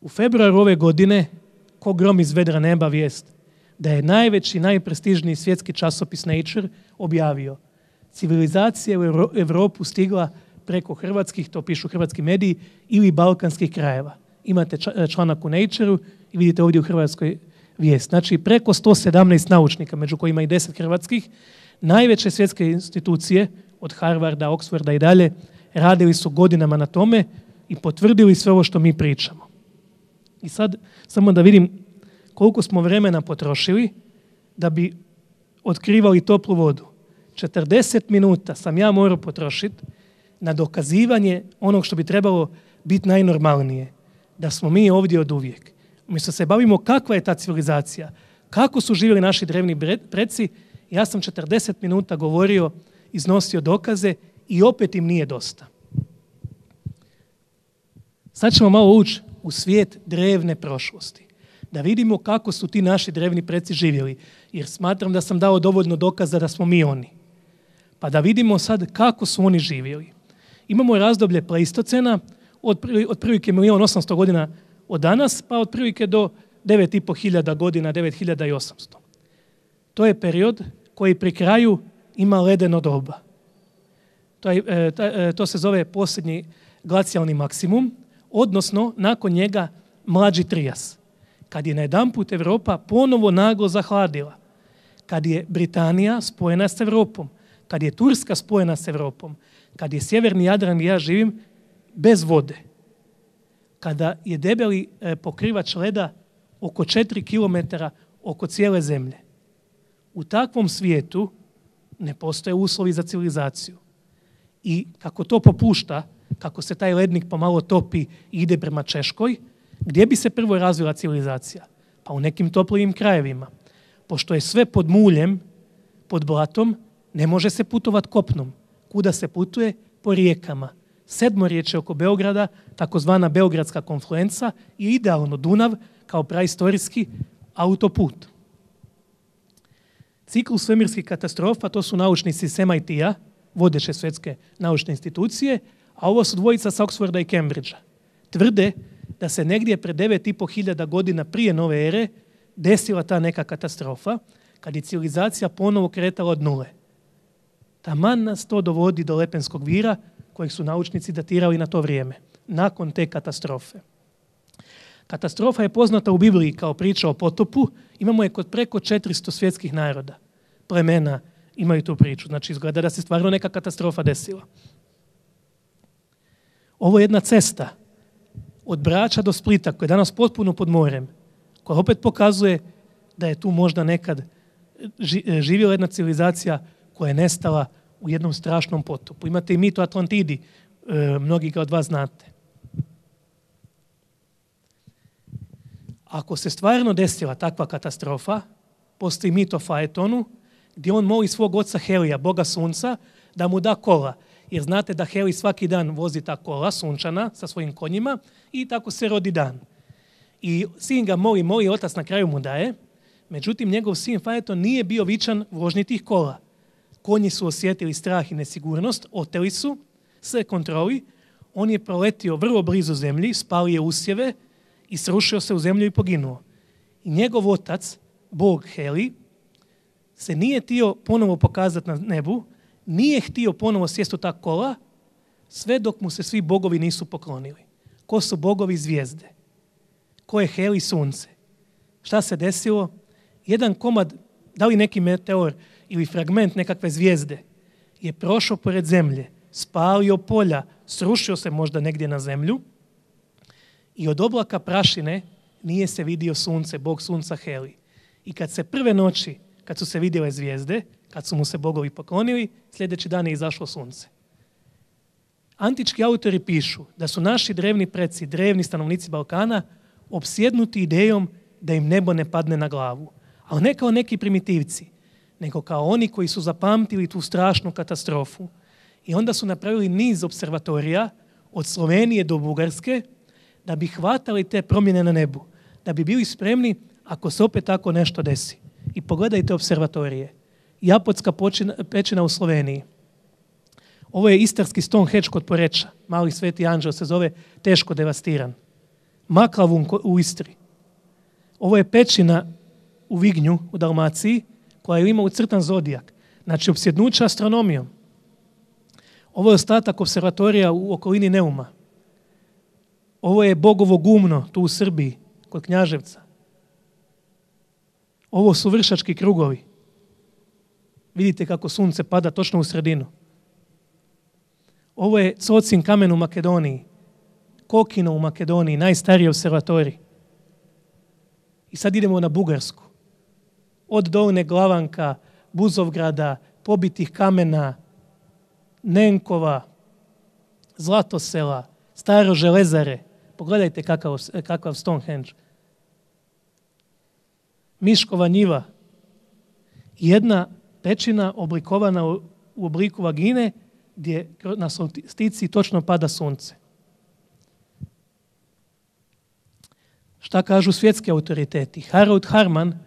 U februaru ove godine, ko grom iz vedra neba, vijest da je najveći, najprestižniji svjetski časopis Nature objavio: civilizacija u Europu stigla preko hrvatskih, to pišu hrvatski mediji, ili balkanskih krajeva. Imate članak u Nature-u i vidite ovdje u Hrvatskoj vijest. Znači preko 117 naučnika, među kojima i 10 hrvatskih, najveće svjetske institucije, od Harvarda, Oxforda i dalje, radili su godinama na tome i potvrdili sve ovo što mi pričamo. I sad samo da vidim koliko smo vremena potrošili da bi otkrivali toplu vodu. 40 minuta sam ja morao potrošiti na dokazivanje onog što bi trebalo biti najnormalnije. Da smo mi ovdje od uvijek. Umjesto se bavimo kakva je ta civilizacija, kako su živjeli naši drevni preci, ja sam 40 minuta govorio, iznosio dokaze i opet im nije dosta. Sad ćemo malo ući u svijet drevne prošlosti. Da vidimo kako su ti naši drevni preci živjeli. Jer smatram da sam dao dovoljno dokaza da smo mi oni. Pa da vidimo sad kako su oni živjeli. Imamo razdoblje Pleistocena, otprilike 1.800.000 godina od danas, pa otprilike do 9.500 godina, 9.800. To je period koji pri kraju ima ledeno doba. To se zove posljednji glacijalni maksimum, odnosno nakon njega mlađi trijas. Kad je najedanput Europa ponovo naglo zahladila, kad je Britanija spojena s Europom, kad je Turska spojena s Europom, kad je sjeverni Jadran gdje ja živim bez vode, kada je debeli pokrivač leda oko 4 km oko cijele zemlje. U takvom svijetu ne postoje uslovi za civilizaciju. I kako to popušta, kako se taj lednik pomalo topi i ide prema Češkoj, gdje bi se prvo razvila civilizacija? Pa u nekim toplijim krajevima. Pošto je sve pod muljem, pod blatom, ne može se putovati kopnom. Kuda se putuje? Po rijekama. Sedmorječje oko Beograda, takozvana Beogradska konfluenca, je idealno Dunav kao praistorijski autoput. Ciklus svemirskih katastrofa, to su naučnici s MIT-a, vodeće svjetske naučne institucije, a ovo su dvojica sa Oxforda i Cambridgea. Tvrde da se negdje pred 9.500 godina prije nove ere desila ta neka katastrofa, kad je civilizacija ponovo kretala od nule. Taman nas to dovodi do Lepenskog vira, kojeg su naučnici datirali na to vrijeme, nakon te katastrofe. Katastrofa je poznata u Bibliji kao priča o potopu, imamo je kod preko 400 svjetskih naroda. Plemena imaju tu priču, znači izgleda da se stvarno neka katastrofa desila. Ovo je jedna cesta od Brača do Splita, koja je danas potpuno pod morem, koja opet pokazuje da je tu možda nekad živjela jedna civilizacija koja je nestala u jednom strašnom potopu. Imate i mit o Atlantidi, mnogi ga od vas znate. Ako se stvarno desila takva katastrofa, postoji mit o Faetonu, gdje on moli svog oca Helija, boga sunca, da mu da kola. Jer znate da Heli svaki dan vozi ta kola sunčana sa svojim konjima i tako se rodi dan. I sin ga moli, otac na kraju mu daje. Međutim, njegov sin Faeton nije bio vičan vožnji tih kola. Konji su osjetili strah i nesigurnost, oteli su se kontroli. On je proletio vrlo blizu zemlji, spalio usjeve i srušio se u zemlju i poginuo. I njegov otac, bog Heli, se nije htio ponovo pokazati na nebu, nije htio ponovo sjesti u ta kola, sve dok mu se svi bogovi nisu poklonili. Ko su bogovi? Zvijezde. Ko je Heli? Sunce. Šta se desilo? Jedan komad, da li neki meteor ili fragment nekakve zvijezde, je prošao pored zemlje, spalio polja, srušio se možda negdje na zemlju i od oblaka prašine nije se vidio sunce, bog sunca Heli. I kad se prve noći, kad su se vidjele zvijezde, kad su mu se bogovi poklonili, sljedeći dan je izašlo sunce. Antički autori pišu da su naši drevni preci, drevni stanovnici Balkana, opsjednuti idejom da im nebo ne padne na glavu. Ali ne kao neki primitivci, nego kao oni koji su zapamtili tu strašnu katastrofu. I onda su napravili niz observatorija od Slovenije do Bugarske da bi hvatali te promjene na nebu, da bi bili spremni ako se opet tako nešto desi. I pogledajte observatorije. Japotska pećina u Sloveniji. Ovo je istarski Stonehenge kod Poreča. Mali sveti anđeo se zove, teško devastiran. Maklavun u Istri. Ovo je pećina u Vignju, u Dalmaciji, koja ima ucrtan zodijak. Znači, opsjednuća astronomijom. Ovo je ostatak observatorija u okolini Neuma. Ovo je Bogovo gumno, tu u Srbiji, kod Knjaževca. Ovo su Vršački krugovi. Vidite kako sunce pada točno u sredinu. Ovo je Cocin kamen u Makedoniji. Kokino u Makedoniji, najstariji observatorij. I sad idemo na Bugarsku. Od Dolne Glavanka, Buzovgrada, pobitih kamena, Nenkova, Zlatosela, Staro Železare. Pogledajte kakav Stonehenge. Miškova njiva. Jedna pećina oblikovana u obliku vagine gdje na solsticiji točno pada sunce. Šta kažu svjetski autoriteti? Harold Harman,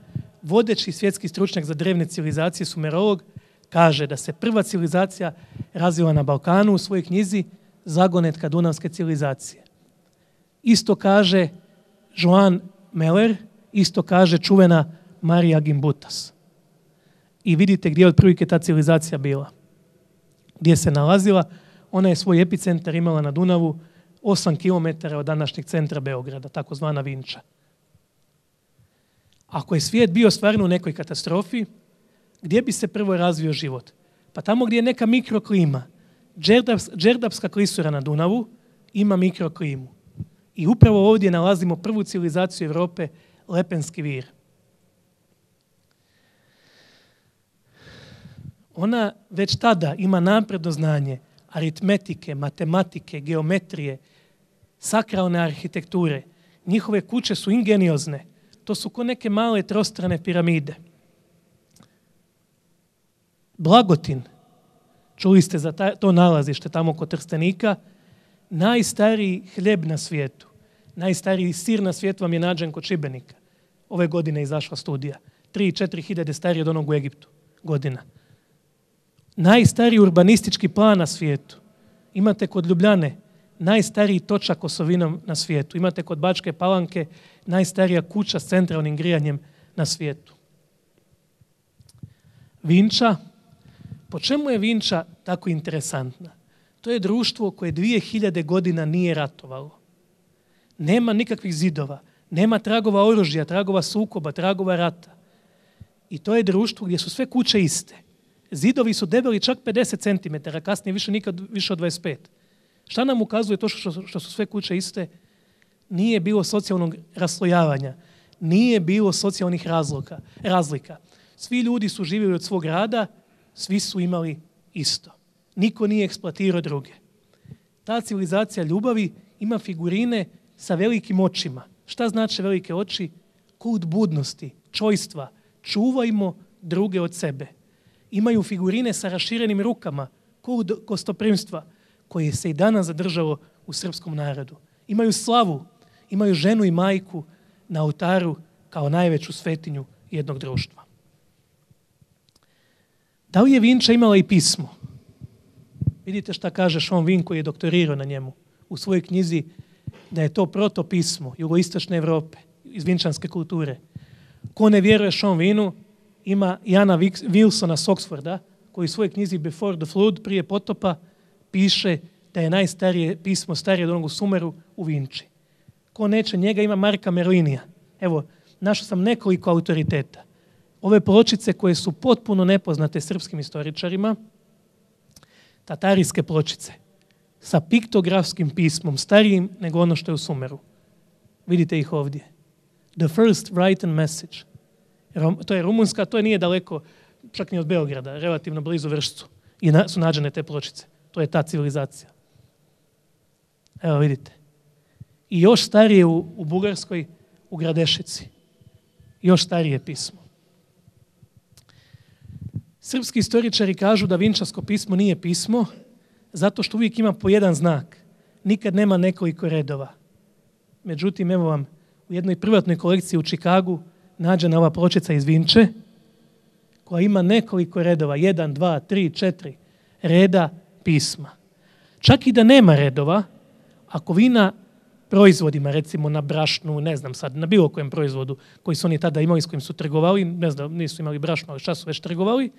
vodeći svjetski stručnjak za drevne civilizacije, sumerolog, kaže da se prva civilizacija razvila na Balkanu u svojoj knjizi Zagonetka dunavske civilizacije. Isto kaže Joan Meller, isto kaže čuvena Marija Gimbutas. I vidite gdje je otprilike ta civilizacija bila. Gdje se nalazila, ona je svoj epicentar imala na Dunavu 8 km od današnjeg centra Beograda, takozvana Vinča. Ako je svijet bio stvarno u nekoj katastrofi, gdje bi se prvo razvio život? Pa tamo gdje je neka mikroklima. Đerdapska klisura na Dunavu ima mikroklimu. I upravo ovdje nalazimo prvu civilizaciju Europe, Lepenski vir. Ona već tada ima napredno znanje aritmetike, matematike, geometrije, sakralne arhitekture. Njihove kuće su ingeniozne. To su ko neke male trostrane piramide. Blagotin, čuli ste za to nalazište tamo kod Trstenika, najstariji hljeb na svijetu, najstariji sir na svijetu vam je nađen kod Šibenika. Ove godine je izašla studija. 3-4 hiljade stariji od onog u Egiptu godina. Najstariji urbanistički plan na svijetu imate kod Ljubljane, najstariji točak osovinom na svijetu. Imate kod Bačke Palanke najstarija kuća s centralnim grijanjem na svijetu. Vinča. Po čemu je Vinča tako interesantna? To je društvo koje 2000 godina nije ratovalo. Nema nikakvih zidova, nema tragova oružja, tragova sukoba, tragova rata. I to je društvo gdje su sve kuće iste. Zidovi su debeli čak 50 cm, kasnije nikad više od 25. Šta nam ukazuje to što su sve kuće iste? Nije bilo socijalnog raslojavanja, nije bilo socijalnih razlika. Svi ljudi su živjeli od svog rada, svi su imali isto. Niko nije eksploatirao druge. Ta civilizacija ljubavi ima figurine sa velikim očima. Šta znači velike oči? Kult budnosti, čojstva. Čuvajmo druge od sebe. Imaju figurine sa raširenim rukama, kult gostoprimstva, koje se i danas zadržalo u srpskom narodu. Imaju slavu, imaju ženu i majku na oltaru kao najveću svetinju jednog društva. Da li je Vinča imala i pismo? Vidite šta kaže Sean Vin koji je doktorirao na njemu u svojoj knjizi da je to protopismo jugoistočne Europe iz vinčanske kulture. Ko ne vjeruje Sean Vinu, ima Jana Wilsona s Oxforda koji u svojoj knjizi Before the Flood, prije potopa, piše da je najstarije pismo starije od onog u Sumeru u Vinči. Ko neće njega, ima Marka Merlinija. Evo, našao sam nekoliko autoriteta. Ove pločice koje su potpuno nepoznate srpskim istoričarima, tatarijske pločice, sa piktografskim pismom, starijim nego ono što je u Sumeru. Vidite ih ovdje. The first written message. To je rumunska, to nije daleko, čak ni od Beograda, relativno blizu Vršcu. I su nađene te pločice. To je ta civilizacija. Evo vidite. I još starije u Bugarskoj, u Gradešici. Još starije pismo. Srpski istoričari kažu da vinčansko pismo nije pismo zato što uvijek ima po jedan znak. Nikad nema nekoliko redova. Međutim, evo vam, u jednoj privatnoj kolekciji u Čikagu nađena ova pločica iz Vinče koja ima nekoliko redova, 1, 2, 3, 4 reda pisma. Čak i da nema redova, ako vi na proizvodima, recimo na brašnu, ne znam sad, na bilo kojem proizvodu koji su oni tada imali, s kojim su trgovali, ne znam, nisu imali brašno, ali šta su već trgovali,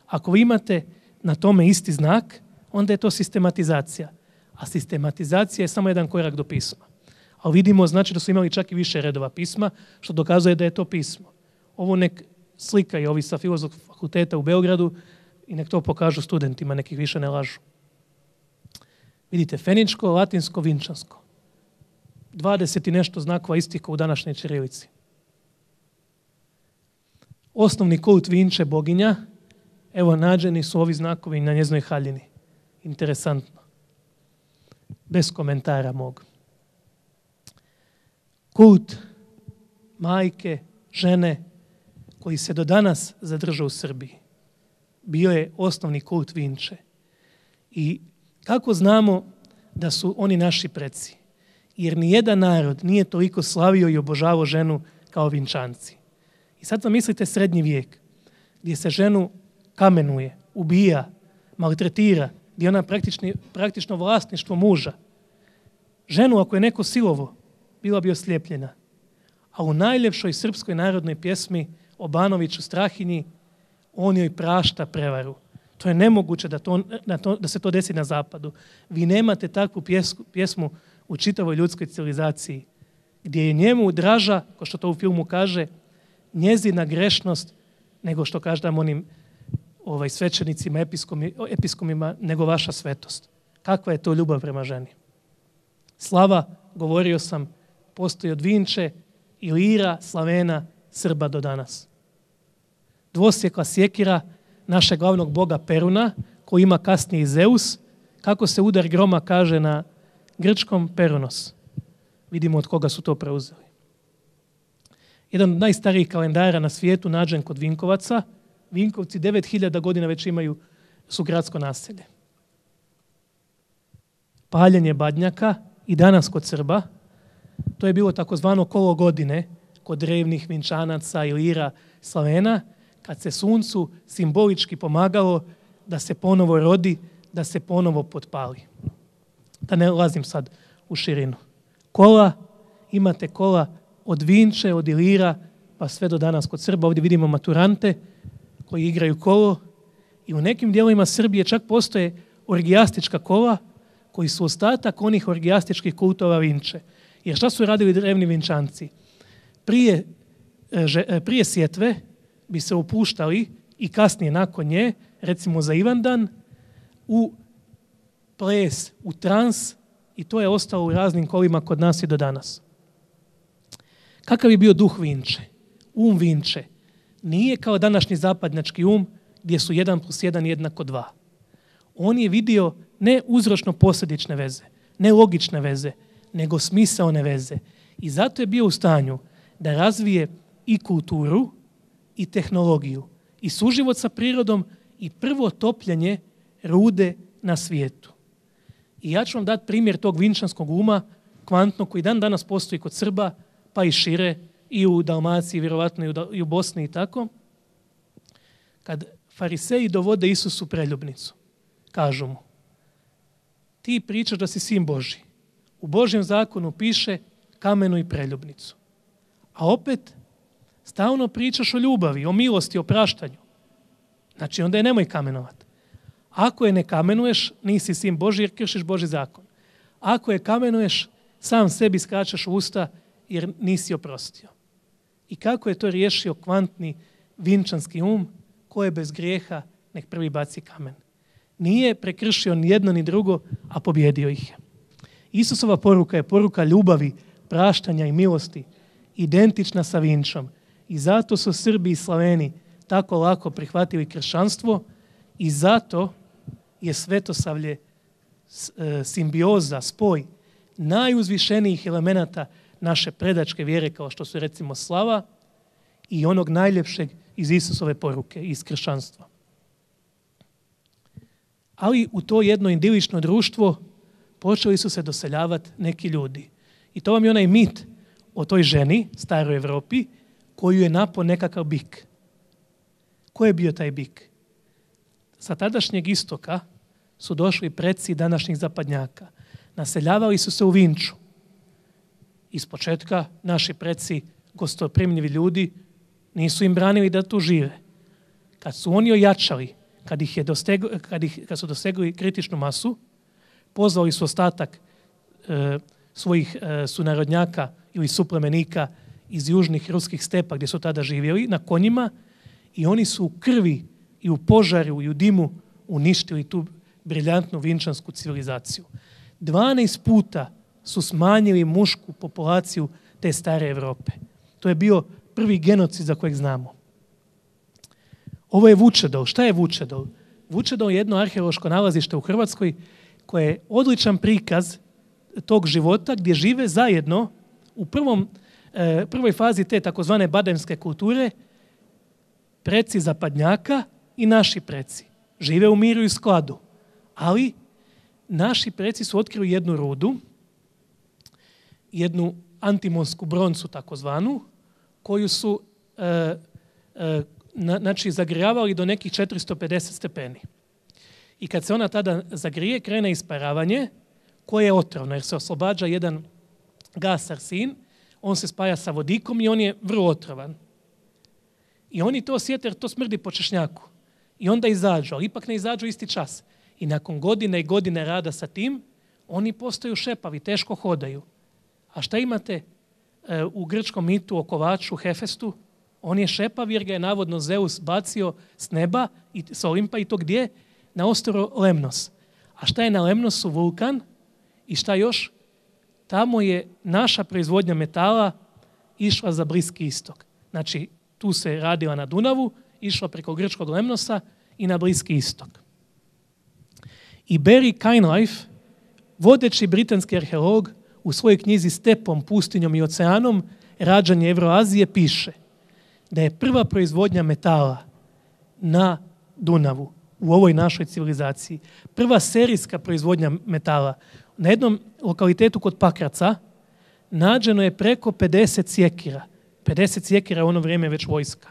ako vi imate na tome isti znak, onda je to sistematizacija. A sistematizacija je samo jedan korak do pisma. Ali vidimo, znači da su imali čak i više redova pisma, što dokazuje da je to pismo. Ovo nek slikaju ovi sa Filozofskog fakulteta u Beogradu i nek to pokažu studentima, nekih više ne lažu. Vidite, feničko, latinsko, vinčansko. 20 i nešto znakova istiko u današnjoj ćirilici. Osnovni kult Vinče, boginja, evo nađeni su ovi znakovi na njezinoj haljini. Interesantno. Bez komentara mog. Kult majke, žene, koji se do danas zadržao u Srbiji. Bio je osnovni kult Vinče. I kako znamo da su oni naši preci? Jer nijedan narod nije toliko slavio i obožavao ženu kao Vinčanci. I sad zamislite srednji vijek, gdje se ženu kamenuje, ubija, maltretira, gdje ona praktično vlasništvo muža. Ženu, ako je neko silovo, bila bi oslijepljena. A u najljepšoj srpskoj narodnoj pjesmi o Banoviću Strahinji, on joj prašta prevaru. To je nemoguće da se to desi na zapadu. Vi nemate takvu pjesmu u čitavoj ljudskoj civilizaciji, gdje je njemu draža, kao što to u filmu kaže, njezina grešnost, nego što kažem onim svećenicima, episkomima, nego vaša svetost. Kakva je to ljubav prema ženi? Slava, govorio sam, postoji od Vinče, Ilira, Slavena, Srba do danas. Dvosjekla sjekira našeg glavnog boga Peruna, koji ima kasnije i Zeus, Kako se udar groma kaže na grčkom? Peronos. Vidimo od koga su to preuzeli. Jedan od najstarijih kalendara na svijetu nađen kod Vinkovaca. Vinkovci 9000 godina već su gradsko naselje. Paljenje badnjaka i danas kod Srba, to je bilo takozvano kolo godine kod drevnih Vinčanaca, Ilira, Slavena, kad se suncu simbolički pomagalo da se ponovo rodi, da se ponovo potpali. Da ne ulazim sad u širinu. Kola, imate kola od Vinče, od Ilira, pa sve do danas kod Srba. Ovdje vidimo maturante koji igraju kolo i u nekim dijelovima Srbije čak postoje orgijastička kola koji su ostatak onih orgijastičkih kultova Vinče. Jer šta su radili drevni Vinčanci? Prije sjetve bi se upuštali i kasnije nakon nje, recimo za Ivandan, u ples, u trans i to je ostalo u raznim kolima kod nas i do danas. Kakav je bio duh Vinče? Um Vinče nije kao današnji zapadnjački gdje su 1 + 1 jednako 2. On je vidio ne uzročno-posljedične veze, ne logične veze, nego smisaone veze. I zato je bio u stanju da razvije i kulturu i tehnologiju i suživot sa prirodom i prvo topljenje rude na svijetu. I ja ću vam dati primjer tog vinčanskog uma, kvantnog, koji dan danas postoji kod Srba, pa i šire, i u Dalmaciji, vjerovatno i u Bosni i tako. Kad fariseji dovode Isusu preljubnicu, kažu mu: ti pričaš da si sin Božji. U Božjem zakonu piše kamenuj preljubnicu. A opet stalno pričaš o ljubavi, o milosti, o praštanju. Znači onda je nemoj kamenovati. Ako je ne kamenuješ, nisi sin Božji jer kršiš Božji zakon. Ako je kamenuješ, sam sebi skačeš u usta jer nisi oprostio. I kako je to riješio kvantni vinčanski ko je bez grijeha, nek prvi baci kamen. Nije prekršio ni jedno ni drugo, a pobjedio ih je. Isusova poruka je poruka ljubavi, praštanja i milosti, identična sa vinčom. I zato su Srbi i Slaveni tako lako prihvatili kršćanstvo i zato je Svetosavlje simbioza, spoj najuzvišenijih elemenata naše predačke vjere, kao što su recimo slava i onog najljepšeg iz Isusove poruke, iz kršćanstva. Ali u to jedno idilično društvo počeli su se doseljavati neki ljudi. I to vam je onaj mit o toj ženi, staroj Evropi, koju je napao nekakav bik. Ko je bio taj bik? Sa tadašnjeg istoka su došli preci današnjih zapadnjaka. Naseljavali su se u Vinču. Iz početka naši preci, gostoprimljivi ljudi, nisu im branili da tu žive. Kad su oni ojačali, kad su dosegli kritičnu masu, pozvali su ostatak svojih sunarodnjaka ili suplemenika iz južnih ruskih stepa gdje su tada živjeli na konjima i oni su u krvi i u požaru i u dimu uništili tu briljantnu vinčansku civilizaciju. 12 puta su smanjili mušku populaciju te stare Europe. To je bio prvi genocid za kojeg znamo. Ovo je Vučedol. Šta je Vučedol? Vučedol je jedno arheološko nalazište u Hrvatskoj koje je odličan prikaz tog života gdje žive zajedno u prvoj fazi te takozvane bademske kulture preci zapadnjaka i naši preci. Žive u miru i skladu. Ali naši preci su otkrili jednu rudu, jednu antimonsku broncu takozvanu, koju su zagrijavali do nekih 450 stepeni. I kad se ona tada zagrije, krene isparavanje koje je otrovno, jer se oslobađa jedan gas arsin, on se spaja sa vodikom i on je vrlo otrovan. I oni to osjete jer to smrdi po češnjaku. I onda izađu, ali ipak ne izađu isti čas. I nakon godine i godine rada sa tim, oni postaju šepavi, teško hodaju. A šta imate u grčkom mitu o kovaču Hefestu? On je šepav jer ga je navodno Zeus bacio s neba i s Olimpa i to gdje? Na ostrvo Lemnos. A šta je na Lemnosu? Vulkan. I šta još? Tamo je naša proizvodnja metala išla za Bliski istok. Znači, tu se radila na Dunavu, išla preko grčkog Lemnosa i na Bliski istok. I Barry Kainlife, vodeći britanski arheolog, u svojoj knjizi Stepom, pustinjom i oceanom, rađanje Evroazije, piše da je prva proizvodnja metala na Dunavu, u ovoj našoj civilizaciji, prva serijska proizvodnja metala, na jednom lokalitetu kod Pakraca nađeno je preko 50 sjekira. 50 sjekira u ono vrijeme već vojska.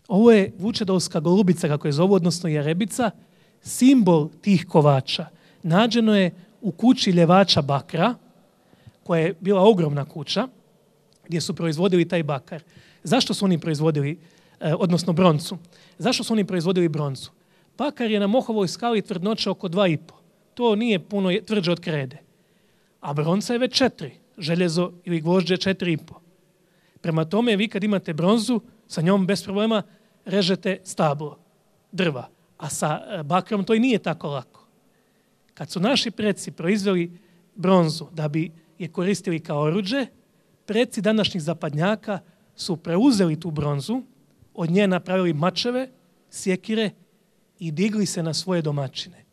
Ovo je vučedolska golubica, kako je zovu, odnosno jarebica, simbol tih kovača. Nađeno je u kući ljevača bakra, koja je bila ogromna kuća, gdje su proizvodili taj bakar. Zašto su oni proizvodili, odnosno broncu? Zašto su oni proizvodili broncu? Bakar je na Mohovoj skali tvrdnoća oko 2,5. To nije puno tvrđe od krede. A bronca je već 4. Željezo ili gvožđe 4,5. Prema tome, vi kad imate bronzu, sa njom bez problema režete stablo, drva. A sa bakrom to i nije tako lako. Kad su naši preci proizveli bronzu da bi je koristili kao oruđe, preci današnjih zapadnjaka su preuzeli tu bronzu, od nje napravili mačeve, sjekire i digli se na svoje domaćine.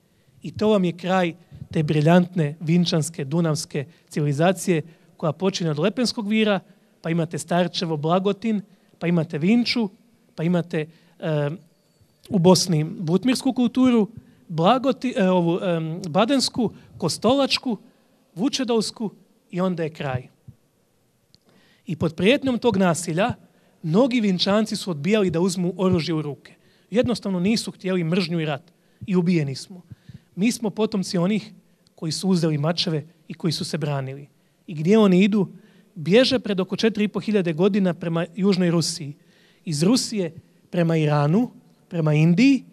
I to vam je kraj te briljantne vinčanske, dunavske civilizacije koja počinje od Lepenskog vira, pa imate Starčevo, Blagotin, pa imate Vinču, pa imate u Bosni butmirsku kulturu, badensku, kostolačku, vučedolsku i onda je kraj. I pod prijetnjom tog nasilja mnogi Vinčanci su odbijali da uzmu oružje u ruke. Jednostavno nisu htjeli mržnju i rat i ubijeni smo. Mi smo potomci onih koji su uzeli mačeve i koji su se branili. I gdje oni idu? Bježe pred oko 4.500 godina prema Južnoj Rusiji. Iz Rusije prema Iranu, prema Indiji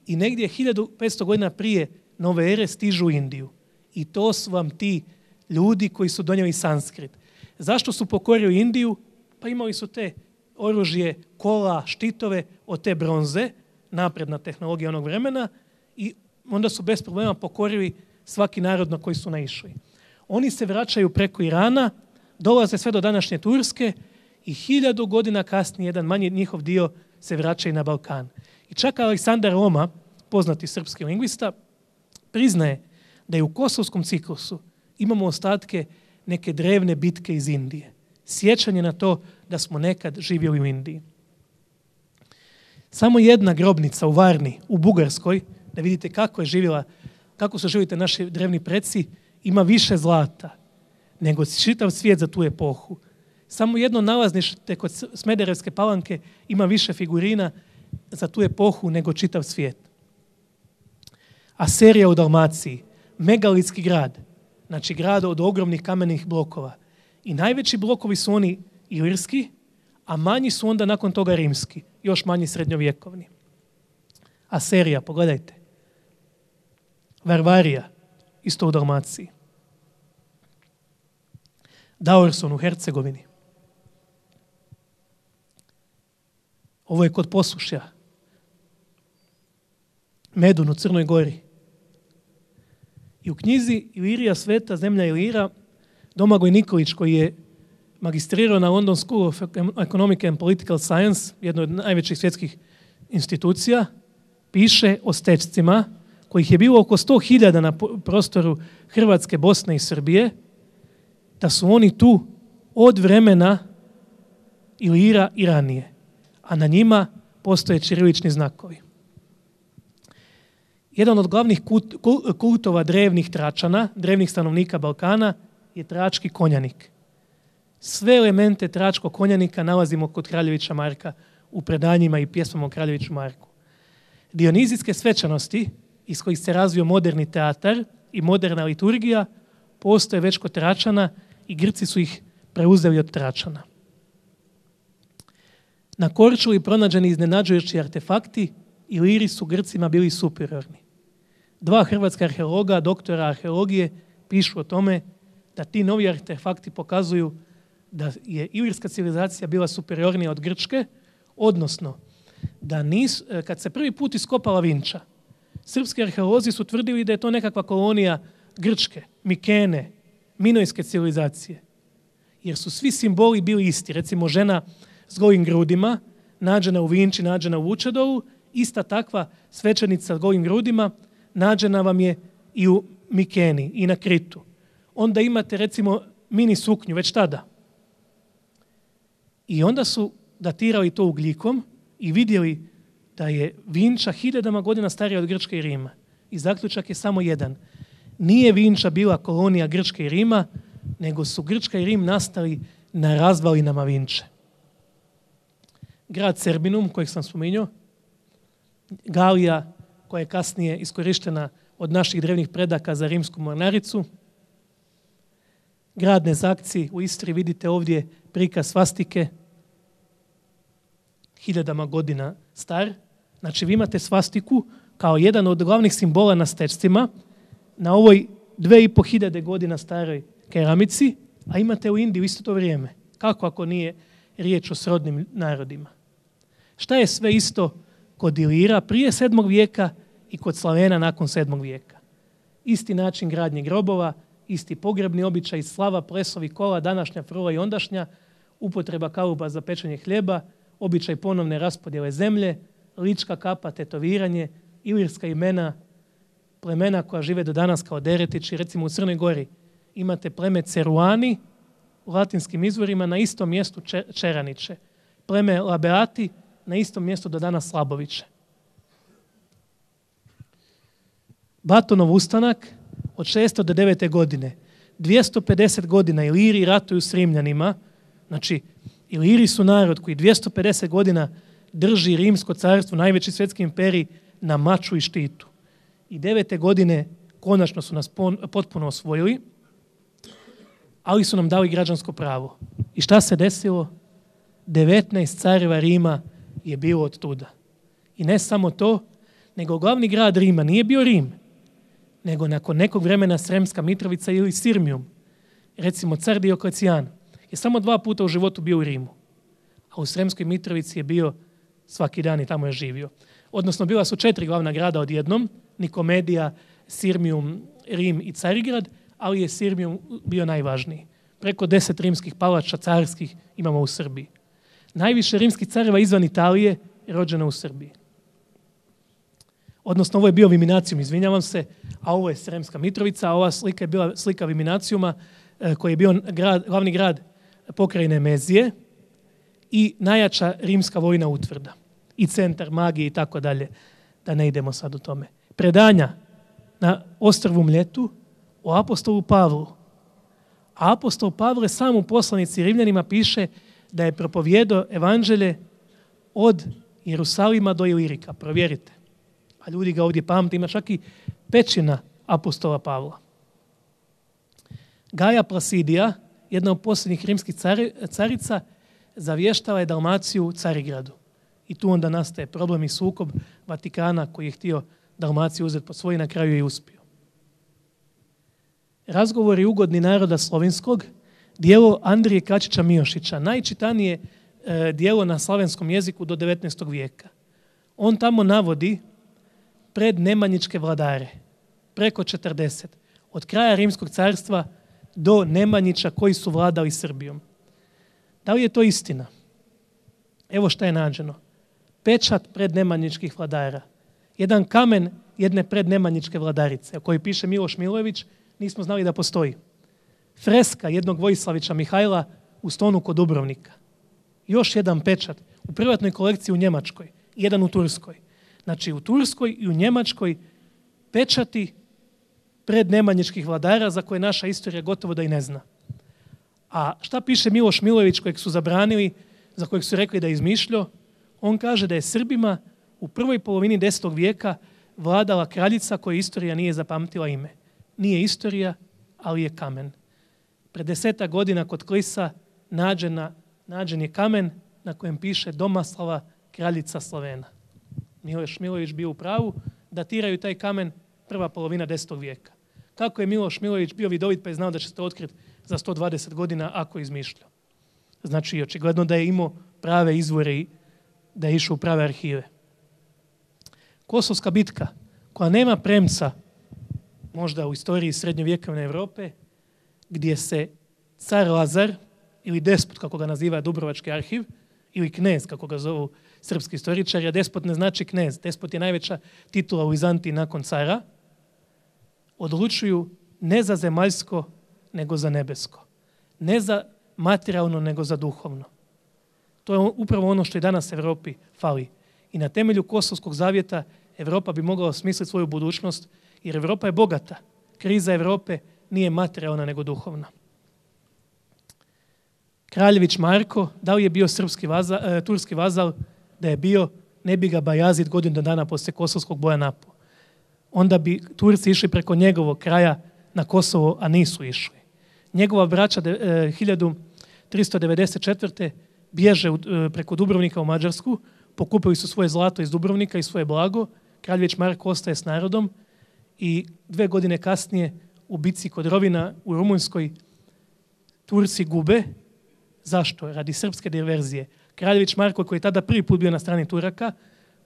i negdje 1500 godina prije nove ere stižu u Indiju. I to su vam ti ljudi koji su donijeli sanskrit. Zašto su pokorili Indiju? Pa imali su te oružje, kola, štitove od te bronze, napredna tehnologija onog vremena, i onda su bez problema pokorili svaki narod na koji su naišli. Oni se vraćaju preko Irana, dolaze sve do današnje Turske i 1000 godina kasnije jedan manji njihov dio se vraća i na Balkan. I čak Aleksandar Roma, poznati srpski lingvista, priznaje da je u Kosovskom ciklusu imamo ostatke neke drevne bitke iz Indije. Sjećanje na to da smo nekad živjeli u Indiji. Samo jedna grobnica u Varni, u Bugarskoj, da vidite kako su živjeli naši drevni preci, ima više zlata nego čitav svijet za tu epohu. Samo jedno nalaznište kod Smederevske Palanke ima više figurina za tu epohu nego čitav svijet. Aserija u Dalmaciji, megalitski grad, znači grad od ogromnih kamenih blokova. I najveći blokovi su oni ilirski, a manji su onda nakon toga rimski, još manji srednjovjekovni. Aserija, pogledajte. Varvarija, isto u Dalmaciji. Daurson u Hercegovini. Ovo je kod Posušja. Medun u Crnoj Gori. I u knjizi Ilirija sveta, zemlja Ilira, Domagoj Nikolić, koji je magistrirao na London School of Economic and Political Science, jednoj od najvećih svjetskih institucija, piše o stečcima, kojih je bilo oko 100.000 na prostoru Hrvatske, Bosne i Srbije, da su oni tu od vremena Ilira i ranije, a na njima postoje ćirilični znakovi. Jedan od glavnih kultova drevnih Tračana, drevnih stanovnika Balkana, je trački konjanik. Sve elemente tračkog konjanika nalazimo kod Kraljevića Marka u predanjima i pjesmama o Kraljeviću Marku. Dionizijske svečanosti, iz kojih se razvio moderni teatar i moderna liturgija, postoje već kod Tračana i Grci su ih preuzeli od Tračana. Na Korčuli pronađeni iznenađujući artefakti, Iliri su Grcima bili superiorni. 2 hrvatska arheologa, doktora arheologije, pišu o tome da ti novi artefakti pokazuju da je ilirska civilizacija bila superiornija od grčke, odnosno da kad se prvi put iskopala Vinča, srpski arheolozi su tvrdili da je to nekakva kolonija grčke, Mikene, minojske civilizacije. Jer su svi simboli bili isti. Recimo žena s golim grudima, nađena u Vinči, nađena u Vučedolu, ista takva svećenica s golim grudima, nađena vam je i u Mikeni i na Kritu. Onda imate recimo mini suknju već tada. I onda su datirali to ugljikom i vidjeli da je Vinča 1000 godina starija od Grčke i Rima. I zaključak je samo jedan. Nije Vinča bila kolonija Grčke i Rima, nego su Grčka i Rim nastali na razvalinama Vinče. Grad Serbinum, kojeg sam spominjao, Galija, koja je kasnije iskorištena od naših drevnih predaka za rimsku mornaricu. Grad Nezakci u Istri, vidite ovdje prikaz svastike, 1000 godina star. Znači vi imate svastiku kao jedan od glavnih simbola na stečcima na ovoj 2500 godina staroj keramici, a imate u Indiji u isto to vrijeme. Kako ako nije riječ o srodnim narodima? Šta je sve isto kod Ilira prije 7. vijeka i kod Slavena nakon 7. vijeka? Isti način gradnje grobova, isti pogrebni običaj, slava, plesovi, kola, današnja frula i ondašnja, upotreba kaluba za pečenje hljeba, običaj ponovne raspodjele zemlje, lička kapa, tetoviranje, ilirska imena, plemena koja žive do danas kao Deretići. Recimo u Crnoj Gori imate pleme Ceruani u latinskim izvorima, na istom mjestu Čeraniće. Pleme Labeati na istom mjestu do danas Slaboviće. Batonov ustanak od 600 do 9. godine. 250 godina Iliri ratuju s Rimljanima. Znači, Iliri su narod koji 250 godina drži Rimsko carstvo, najveći svjetski imperij, na maču i štitu. I 9. godine konačno su nas potpuno osvojili, ali su nam dali građansko pravo. I šta se desilo? 19 careva Rima je bilo od tuda. I ne samo to, nego glavni grad Rima nije bio Rim, nego nakon nekog vremena Sremska Mitrovica ili Sirmium. Recimo, car Dioklecijan je samo 2 puta u životu bio u Rimu, a u Sremskoj Mitrovici je bio svaki dan i tamo je živio. Odnosno, bila su 4 glavna grada odjednom, Nikomedija, Sirmium, Rim i Carigrad, ali je Sirmium bio najvažniji. Preko 10 rimskih palača carskih imamo u Srbiji. Najviše rimskih careva izvan Italije je rođeno u Srbiji. Odnosno, ovo je bio Viminacijum, izvinjavam se, a ovo je Sremska Mitrovica, a ova slika je bila slika Viminacijuma, koji je bio glavni grad pokrajine Mezije i najjača rimska vojna utvrda i centar magije i tako dalje, da ne idemo sad u tome. Predanja na ostrvu Mljetu o apostolu Pavlu. A apostol Pavle sam u poslanici Rimljanima piše da je propovijedao evanđelje od Jerusalima do Ilirika. Provjerite. A ljudi ga ovdje pamte, ima čak i pećina apostola Pavla. Gaja Placidija, jedna od posljednjih rimskih carica, zavještala je Dalmaciju Carigradu. I tu onda nastaje problem i sukob Vatikana koji je htio Dalmaciju uzeti pod svoj, na kraju je uspio. Razgovori ugodni naroda slovenskog, dijelo Andrije Kačića Miošića, najčitanije dijelo na slavenskom jeziku do 19. vijeka. On tamo navodi pred nemanjičke vladare, preko 40, od kraja Rimskog carstva do Nemanjića koji su vladali Srbijom. Da li je to istina? Evo šta je nađeno. Pečat prednemanjičkih vladara. Jedan kamen jedne prednemanjičke vladarice, o kojoj piše Miloš Milojević, nismo znali da postoji. Freska jednog Vojislavića Mihajla u Stonu kod Dubrovnika. Još jedan pečat u privatnoj kolekciji u Njemačkoj, jedan u Turskoj. Znači u Turskoj i u Njemačkoj pečati prednemanjičkih vladara za koje naša istorija gotovo da i ne zna. A šta piše Miloš Milojević kojeg su zabranili, za kojeg su rekli da je izmišljao? On kaže da je Srbima u prvoj polovini 10. vijeka vladala kraljica kojoj istorija nije zapamtila ime. Nije istorija, ali je kamen. Pred 10 godina kod Klisa nađen je kamen na kojem piše Domaslava, kraljica Slovena. Miloš Milojević bio u pravu, datiraju taj kamen prva polovina 10. vijeka. Kako je Miloš Milojević bio vidovit pa je znao da će se to otkriti za 120 godina ako je izmišljao? Znači, očigledno da je imao prave izvore i da je išao u prave arhive. Kosovska bitka, koja nema premca možda u istoriji srednjovjekovne Europe, gdje se car Lazar, ili despot, kako ga naziva Dubrovački arhiv, ili knez, kako ga zovu srpski istoričari, a despot ne znači knez. Despot je najveća titula u Vizantiji nakon cara, odlučuju ne za zemaljsko, nego za nebesko. Ne za materijalno, nego za duhovno. To je upravo ono što i danas Europi fali. I na temelju Kosovskog zavjeta Europa bi mogla osmisliti svoju budućnost, jer Europa je bogata. Kriza Europe nije materijalna, nego duhovna. Kraljević Marko, da li je bio turski vazal? Da je bio, ne bi ga Bajazid godinu dana poslije kosovskog boja napao. Onda bi Turci išli preko njegovog kraja na Kosovo, a nisu išli. Njegova braća 1394. bježe preko Dubrovnika u Mađarsku, pokupili su svoje zlato iz Dubrovnika i svoje blago. Kraljević Marko ostaje s narodom i 2 godine kasnije u bitci kod Rovina u Rumunjskoj Turci gube. Zašto? Radi srpske diverzije. Kraljević Marko, koji je tada prvi put bio na strani Turaka,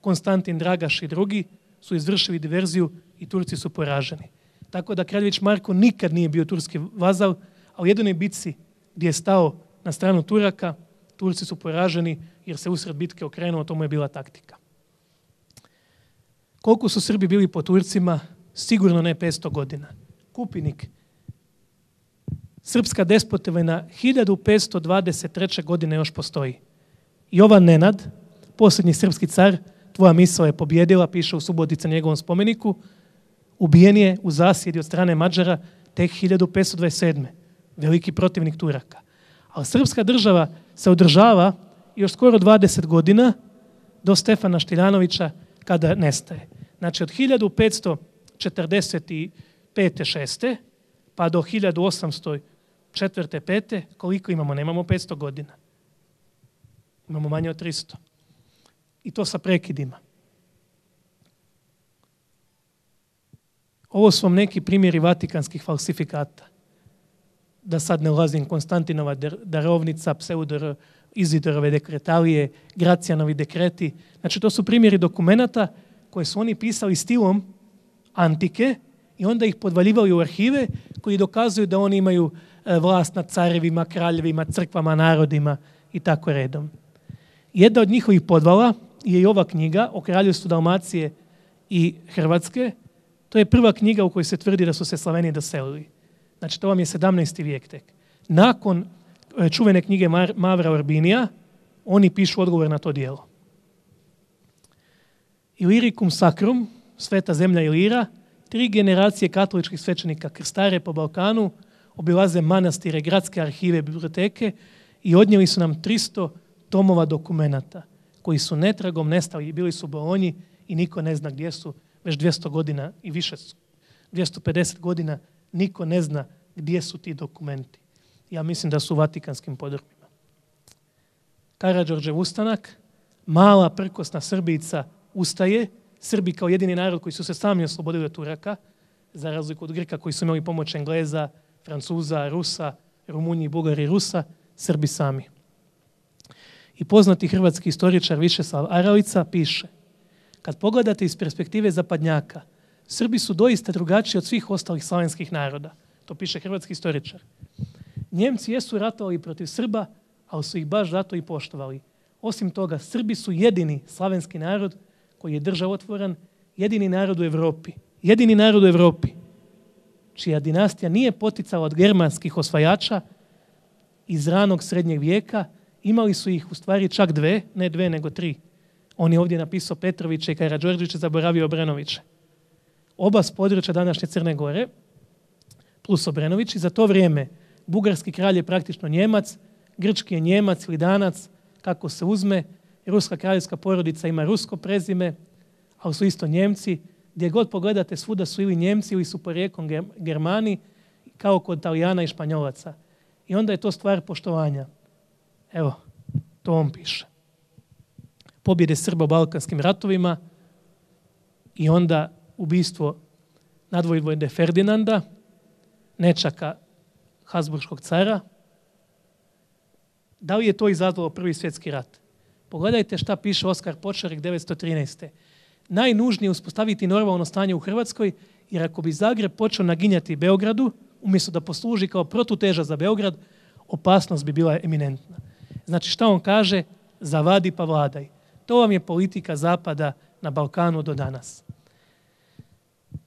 Konstantin Dragaš i drugi su izvršili diverziju i Turci su poraženi. Tako da Kraljević Marko nikad nije bio turski vazal, a u jedinoj bitci gdje je stao na stranu Turaka, Turci su poraženi jer se usred bitke okrenuo, to mu je bila taktika. Koliko su Srbi bili po Turcima? Sigurno ne 500 godina. Kupinik, srpska despotovina 1523. godine još postoji. Jovan Nenad, posljednji srpski car, tvoja misao je pobjedila, piše u Subotica njegovom spomeniku, ubijen je u zasjedi od strane Mađara tek 1527. Veliki protivnik Turaka. Ali srpska država se održava još skoro 20 godina do Stefana Štiljanovića kada nestaje. Znači od 1545. 6. pa do 1804. 5. koliko imamo? Nemamo 500 godina. Imamo manje od 300. I to sa prekidima. Ovo su vam neki primjeri vatikanskih falsifikata. Da sad ne ulazim, Konstantinova darovnica, Izidorove dekretalije, Gracijanovi dekreti. Znači to su primjeri dokumenata koje su oni pisali stilom antike i onda ih podvaljivali u arhive koji dokazuju da oni imaju vlast nad carevima, kraljevima, crkvama, narodima i tako redom. Jedna od njihovih podvala je i ova knjiga o kraljevstvu Dalmacije i Hrvatske. To je prva knjiga u kojoj se tvrdi da su se Slaveni doselili. Znači to vam je 17. vijek tek. Nakon čuvene knjige Mavra Urbinija, oni pišu odgovor na to djelo. Illyricum Sacrum, Sveta zemlja Ilira, 3 generacije katoličkih svećenika krstare po Balkanu, obilaze manastire, gradske arhive, biblioteke i odnijeli su nam 300 tomova dokumenata koji su netragom nestali, bili su u Bolonji i niko ne zna gdje su, već 200 godina i više, 250 godina, niko ne zna gdje su ti dokumenti. Ja mislim da su u Vatikanskim podrumima. Karađorđev ustanak, mala prkosna Srbica ustaje, Srbi kao jedini narod koji su se sami oslobodili od Turaka, za razliku od Grka koji su imali pomoć Engleza, Francuza, Rusa, Rumunji, Bugari, Rusa, Srbi sami. I poznati hrvatski istoričar Višeslav Aralica piše: kad pogledate iz perspektive zapadnjaka, Srbi su doista drugačiji od svih ostalih slavenskih naroda. To piše hrvatski istoričar. Njemci jesu ratovali protiv Srba, ali su ih baš zato i poštovali. Osim toga, Srbi su jedini slavenski narod koji je državotvoran, jedini narod u Europi. Jedini narod u Europi čija dinastija nije poticala od germanskih osvajača iz ranog srednjeg vijeka. Imali su ih u stvari čak 2, ne 2 nego 3. On je ovdje napisao Petrovića i Karađorđevića, zaboravio Obrenovića. Oba s područja današnje Crne Gore, plus Obrenović, i za to vrijeme bugarski kralj je praktično Njemac, grčki je Njemac ili Danac, kako se uzme, ruska kraljevska porodica ima rusko prezime, ali su isto Njemci. Gdje god pogledate, svuda su ili Njemci ili su porijeklom Germani, kao kod Talijana i Španjolaca. I onda je to stvar poštovanja. Evo, to on piše. Pobjede Srba u Balkanskim ratovima i onda ubistvo nadvojvode Ferdinanda, nečaka Habsburškog cara. Da li je to izazvalo Prvi svjetski rat? Pogledajte šta piše Oskar Počarik 913. Najnužnije uspostaviti normalno stanje u Hrvatskoj, jer ako bi Zagreb počeo naginjati Beogradu, umjesto da posluži kao protuteža za Beograd, opasnost bi bila eminentna. Znači šta on kaže? Zavadi pa vladaj. To vam je politika Zapada na Balkanu do danas.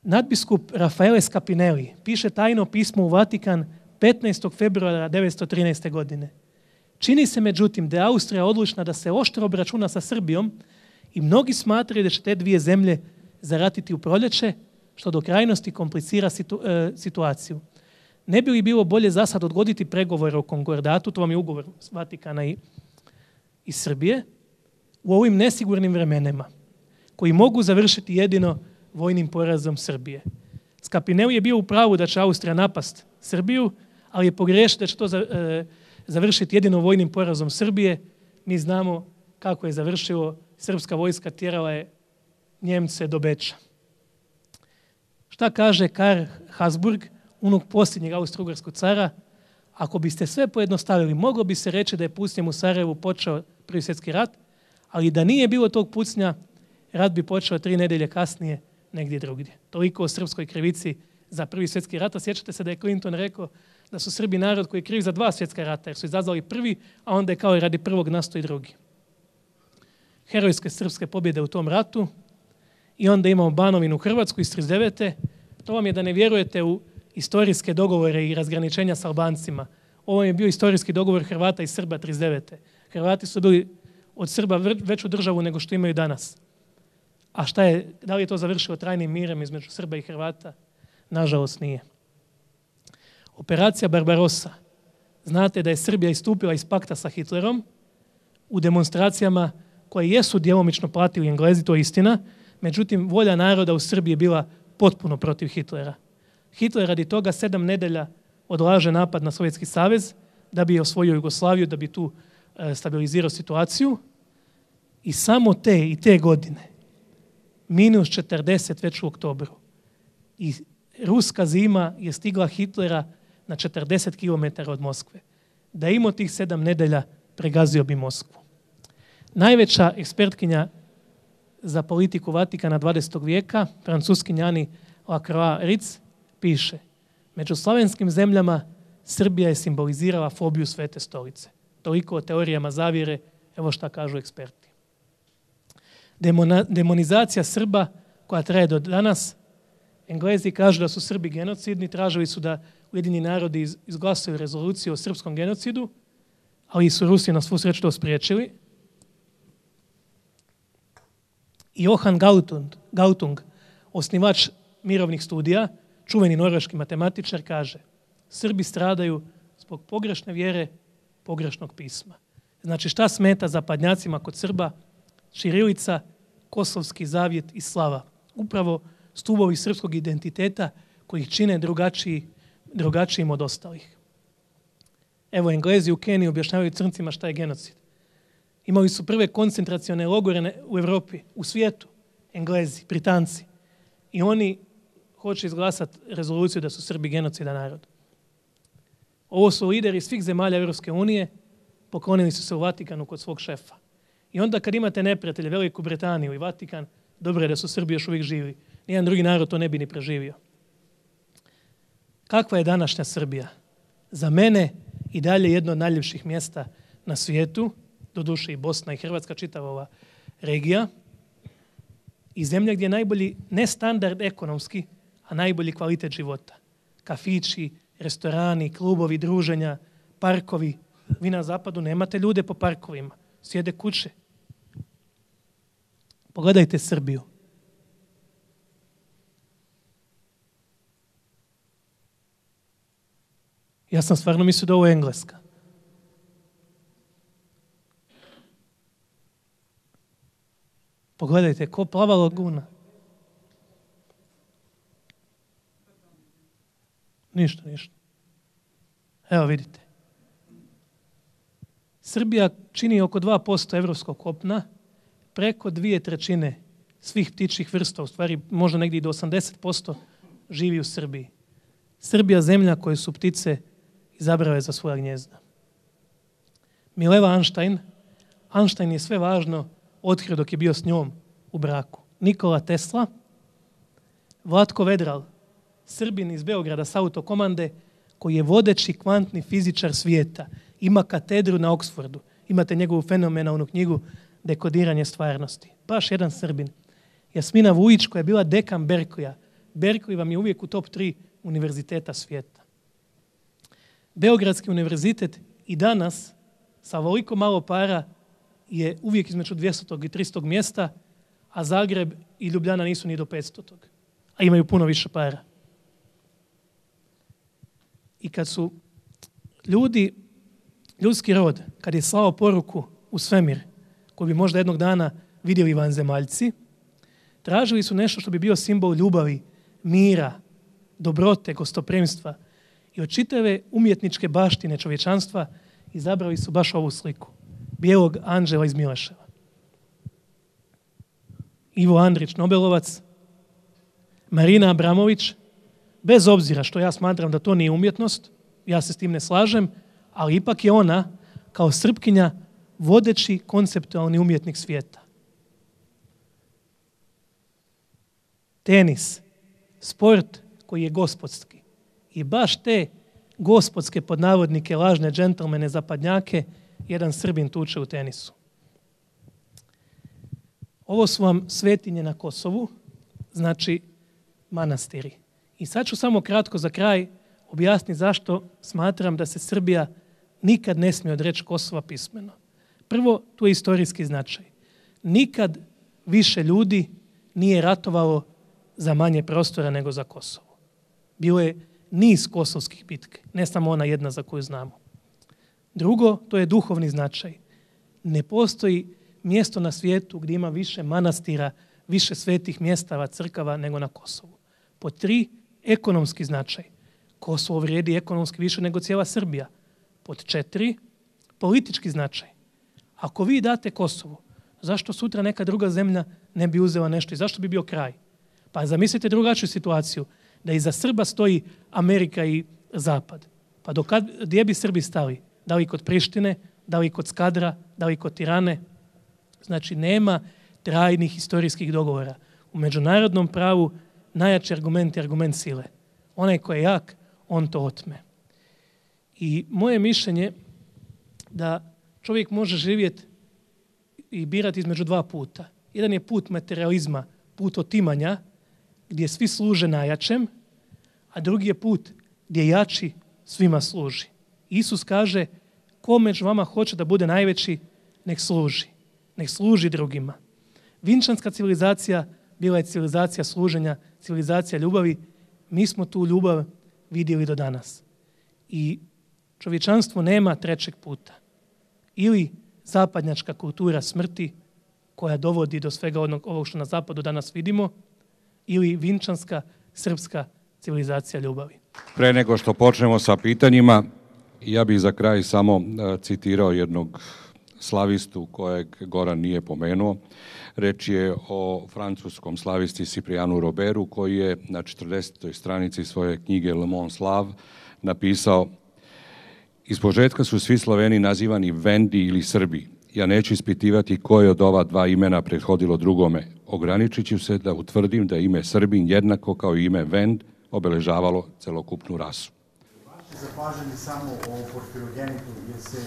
Nadbiskup Rafaele Scapinelli piše tajno pismo u Vatikan 15. februara 1913. godine. Čini se međutim da je Austrija odlučna da se oštro obračuna sa Srbijom i mnogi smatraju da će te dvije zemlje zaratiti u proljeće, što do krajnosti komplicira situaciju. Ne bi li bilo bolje za sad odgoditi pregovore o konkordatu, to vam je ugovor Vatikana i Srbije, u ovim nesigurnim vremenima, koji mogu završiti jedino vojnim porazom Srbije. Scapinelli je bio u pravu da će Austrija napast Srbiju, ali je pogriješio da će to završiti jedino vojnim porazom Srbije. Mi znamo kako je završilo. Srpska vojska tjerala je Njemce do Beča. Šta kaže Karl Habsburg, unuk posljednjeg austro-ugarskog cara? Ako biste sve pojednostavili, moglo bi se reći da je pucnjem u Sarajevu počeo Prvi svjetski rat, ali da nije bilo tog pucnja, rat bi počeo 3 nedelje kasnije negdje drugdje. Toliko o srpskoj krivici za Prvi svjetski rat. A sjećate se da je Clinton rekao da su Srbi narod koji je kriv za 2 svjetska rata, jer su izazvali prvi, a onda je kao i radi prvog nastao i drugi. Herojske srpske pobjede u tom ratu i onda imamo Banovinu Hrvatsku iz 39. To vam je da ne vjerujete u historijske dogovore i razgraničenja s Albancima. Ovo je bio historijski dogovor Hrvata i Srba 39. Hrvati su bili od Srba veću državu nego što imaju danas. A šta je, da li je to završilo trajnim mirem između Srba i Hrvata? Nažalost nije. Operacija Barbarossa. Znate da je Srbija istupila iz pakta sa Hitlerom u demonstracijama koje jesu djelomično platili Englezi, to je istina, međutim volja naroda u Srbiji je bila potpuno protiv Hitlera. Hitler radi toga 7 nedelja odlaže napad na Sovjetski savez da bi osvojio Jugoslaviju, da bi tu stabilizirao situaciju i samo te godine -40 već u oktobru. I ruska zima je stigla Hitlera na 40 km od Moskve. Da je imao tih 7 nedelja, pregazio bi Moskvu. Najveća ekspertkinja za politiku Vatikana 20. vijeka, francuskinja Annie Lacroix-Ritz, piše: među slavenskim zemljama Srbija je simbolizirala fobiju Svete stolice. Toliko o teorijama zavjere, evo šta kažu eksperti. Demonizacija Srba koja traje do danas. Englezi kažu da su Srbi genocidni, tražili su da Ujedinjeni narodi izglasuju rezoluciju o srpskom genocidu, ali su Rusi na svu sreću to spriječili. I Johan Galtung, osnivač mirovnih studija, čuveni norveški matematičar, kaže: Srbi stradaju zbog pogrešne vjere, pogrešnog pisma. Znači šta smeta zapadnjacima kod Srba? Ćirilica, kosovski zavjet i slava. Upravo stubovi srpskog identiteta koji ih čine drugačijim od ostalih. Evo, Englezi u Keniji objašnjavaju crncima šta je genocid. Imali su prve koncentracione logore u Europi, u svijetu, Englezi, Britanci. I oni hoće izglasati rezoluciju da su Srbi genocidan narod. Ovo su lideri svih zemalja Europske unije, poklonili su se u Vatikanu kod svog šefa. I onda kad imate neprijatelje, Veliku Britaniju i Vatikan, dobro je da su Srbi još uvijek živi. Nijedan drugi narod to ne bi ni preživio. Kakva je današnja Srbija? Za mene i dalje jedno od najljepših mjesta na svijetu, doduše i Bosna i Hrvatska, čitava ova regija, i zemlja gdje je najbolji ne standard ekonomski, a najbolji kvalitet života. Kafići, restorani, klubovi, druženja, parkovi. Vi na zapadu nemate ljude po parkovima, sjede kuće. Pogledajte Srbiju. Ja sam stvarno mislio da ovo je Engleska. Pogledajte, ko plava laguna. Ništa. Evo vidite. Srbija čini oko 2% evropskog kopna, preko 2/3 svih ptičjih vrsta, u stvari možda negdje i do 80% živi u Srbiji. Srbija zemlja koje su ptice izabrale za svoja gnjezda. Mileva Einstein je sve važno otkrio dok je bio s njom u braku. Nikola Tesla, Vlatko Vedral, Srbin iz Beograda s autokomande, koji je vodeći kvantni fizičar svijeta. Ima katedru na Oxfordu. Imate njegovu fenomenalnu knjigu Dekodiranje stvarnosti. Baš jedan Srbin. Jasmina Vujić, koja je bila dekan Berkelija, Berkeley vam je uvijek u top 3 univerziteta svijeta. Beogradski univerzitet i danas sa ovoliko malo para je uvijek između 200. i 300. mjesta, a Zagreb i Ljubljana nisu ni do 500. A imaju puno više para. I kad su ljudski rod, kad je slao poruku u svemir, koju bi možda jednog dana vidjeli vanzemaljci, tražili su nešto što bi bio simbol ljubavi, mira, dobrote, gostopremstva i od čitave umjetničke baštine čovječanstva izabrali su baš ovu sliku. Bijelog anđela iz Mileševa. Ivo Andrić, Nobelovac, Marina Abramović, bez obzira što ja smatram da to nije umjetnost, ja se s tim ne slažem, ali ipak je ona, kao Srpkinja, vodeći konceptualni umjetnik svijeta. Tenis, sport koji je gospodski. I baš te gospodske, pod navodnike, lažne džentlmene zapadnjake, jedan Srbin tuče u tenisu. Ovo su vam svetinje na Kosovu, znači manastiri. I sad ću samo kratko za kraj objasniti zašto smatram da se Srbija nikad ne smije odreći Kosova pismeno. Prvo, tu je istorijski značaj. Nikad više ljudi nije ratovalo za manje prostora nego za Kosovo. Bilo je niz kosovskih bitke, ne samo ona jedna za koju znamo. Drugo, to je duhovni značaj. Ne postoji mjesto na svijetu gdje ima više manastira, više svetih mjestava, crkava nego na Kosovu. Pod 3, ekonomski značaj. Kosovo vrijedi ekonomski više nego cijela Srbija. Pod 4, politički značaj. Ako vi date Kosovo, zašto sutra neka druga zemlja ne bi uzela nešto i zašto bi bio kraj? Pa zamislite drugačiju situaciju, da iza Srba stoji Amerika i Zapad. Pa gdje bi Srbi stali? Da li kod Prištine, da li kod Skadra, da li kod Tirane? Znači, nema trajnih historijskih dogovora. U međunarodnom pravu najjači argument je argument sile. Onaj ko je jak, on to otme. I moje mišljenje da čovjek može živjeti i birati između 2 puta. Jedan je put materializma, put otimanja, gdje svi služe najjačem, a drugi je put gdje jači svima služi. Isus kaže, ko među vama hoće da bude najveći, nek služi drugima. Vinčanska civilizacija bila je civilizacija služenja, civilizacija ljubavi. Mi smo tu ljubav vidjeli do danas. I čovječanstvo nema trećeg puta. Ili zapadnjačka kultura smrti, koja dovodi do svega ovog što na zapadu danas vidimo, ili vinčanska srpska civilizacija ljubavi. Pre nego što počnemo sa pitanjima, ja bih za kraj samo citirao jednog slavistu kojeg Goran nije pomenuo. Reč je o francuskom slavisti Cyprianu Roberu, koji je na 40. stranici svoje knjige Le Monde Slave napisao: ispočetka su svi Sloveni nazivani Vendi ili Srbi. Ja neću ispitivati koje od ova 2 imena prethodilo drugome. Ograničit ću se da utvrdim da ime Srbin jednako kao i ime Vend obeležavalo celokupnu rasu. Vaše zapažanje samo o Porfirogenitu, jer se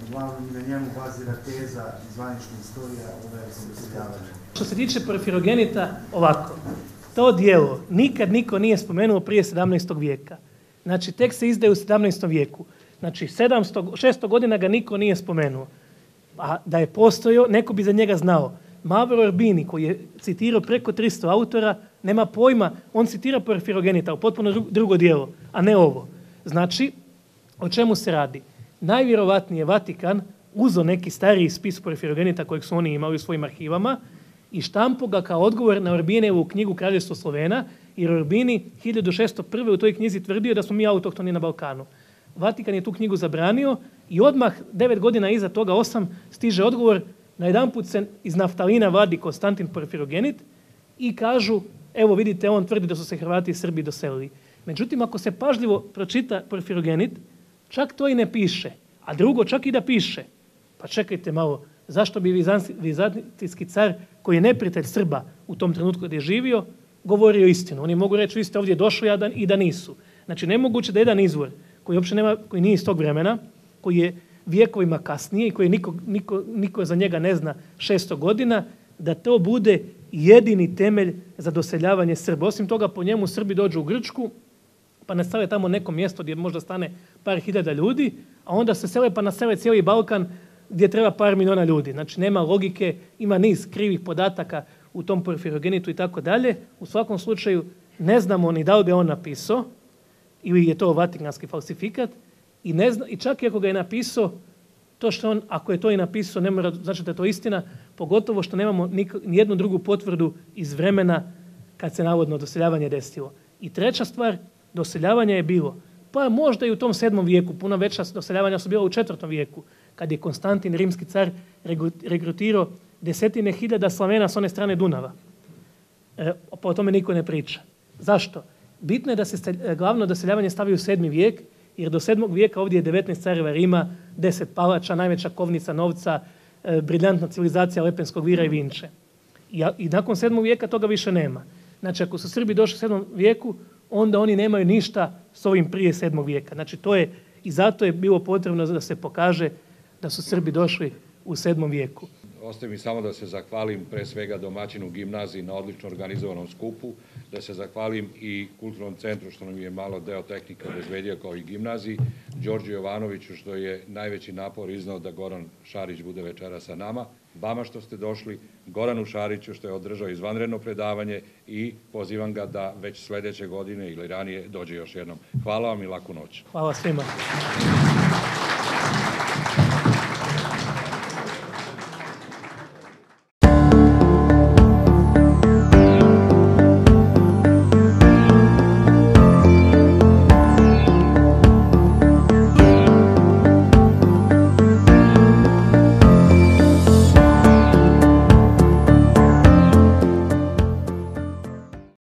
uglavnom na njemu bazira teza i zvanična istorija o verskom doseljavanju. Što se tiče Porfirogenita, ovako, to dijelo nikad niko nije spomenuo prije 17. vijeka. Znači, tek se izdaje u 17. vijeku. Znači, 600 godina ga niko nije spomenuo. A da je postojao, neko bi za njega znao. Mavro Orbini, koji je citirao preko 300 autora, nema pojma, on citira Porfirogenita, u potpuno drugo dijelo, a ne ovo. Znači, o čemu se radi? Najvjerovatnije Vatikan uzeo neki stariji spis Porfirogenita kojeg su oni imali u svojim arhivama i štampo ga kao odgovor na Orbinevu knjigu Kraljevstvo Slovena, jer Orbini 1601. u toj knjizi tvrdio da smo mi autohtoni na Balkanu. Vatikan je tu knjigu zabranio i odmah 9 godina iza toga, 8, stiže odgovor. Najedanput se iz naftalina vadi Konstantin Porfirogenit i kažu, evo vidite, on tvrdi da su se Hrvati i Srbi doselili. Međutim, ako se pažljivo pročita Porfirogenit, čak to i ne piše. A drugo, čak i da piše. Pa čekajte malo, zašto bi vizantijski car, koji je neprijatelj Srba u tom trenutku gdje je živio, govorio istinu? Oni mogu reći, vi ste ovdje došli i da nisu. Znači, nemoguće da jedan izvor koji nije iz tog vremena, koji je vijekovima kasnije i koji niko za njega ne zna 600 godina, da to bude jedini temelj za doseljavanje Srba. Osim toga, po njemu Srbi dođu u Grčku, pa nastave tamo neko mjesto gdje možda stane par hiljada ljudi, a onda se sele pa nasele cijeli Balkan gdje treba par miliona ljudi. Znači, nema logike, ima niz krivih podataka u tom Porfirogenitu i tako dalje. U svakom slučaju, ne znamo ni da li ga on napisao, ili je to vatikanski falsifikat, i čak i ako ga je napisao, to što on, ako je to i napisao, ne mora znači da je to istina, pogotovo što nemamo ni jednu drugu potvrdu iz vremena kad se navodno doseljavanje desilo. I treća stvar, doseljavanje je bilo, pa možda i u tom 7. vijeku, puno veća doseljavanja su bila u 4. vijeku, kad je Konstantin, rimski car, regrutirao desetine hiljada Slavena s one strane Dunava. Pa o tome niko ne priča. Zašto? Bitno je da se glavno doseljavanje stavi u 7. vijek, jer do 7. vijeka ovdje je 19 careva Rima, 10 palača, najveća kovnica novca, briljantna civilizacija Lepenskog vira i Vinče. I nakon 7. vijeka toga više nema. Znači, ako su Srbi došli u 7. vijeku, onda oni nemaju ništa s ovim prije 7. vijeka. Znači, to je, i zato je bilo potrebno da se pokaže da su Srbi došli u 7. vijeku. Ostaje mi samo da se zahvalim pre svega domaćinu gimnaziji na odlično organizovanom skupu, da se zahvalim i kulturnom centru što nam je malo deo tehnika obezbedio kao i gimnaziji, Đorđu Jovanoviću što je najveći napor iznao da Goran Šarić bude večera sa nama, vama što ste došli, Goranu Šariću što je održao izvanredno predavanje i pozivam ga da već sledeće godine ili ranije dođe još jednom. Hvala vam i laku noć. Hvala svima.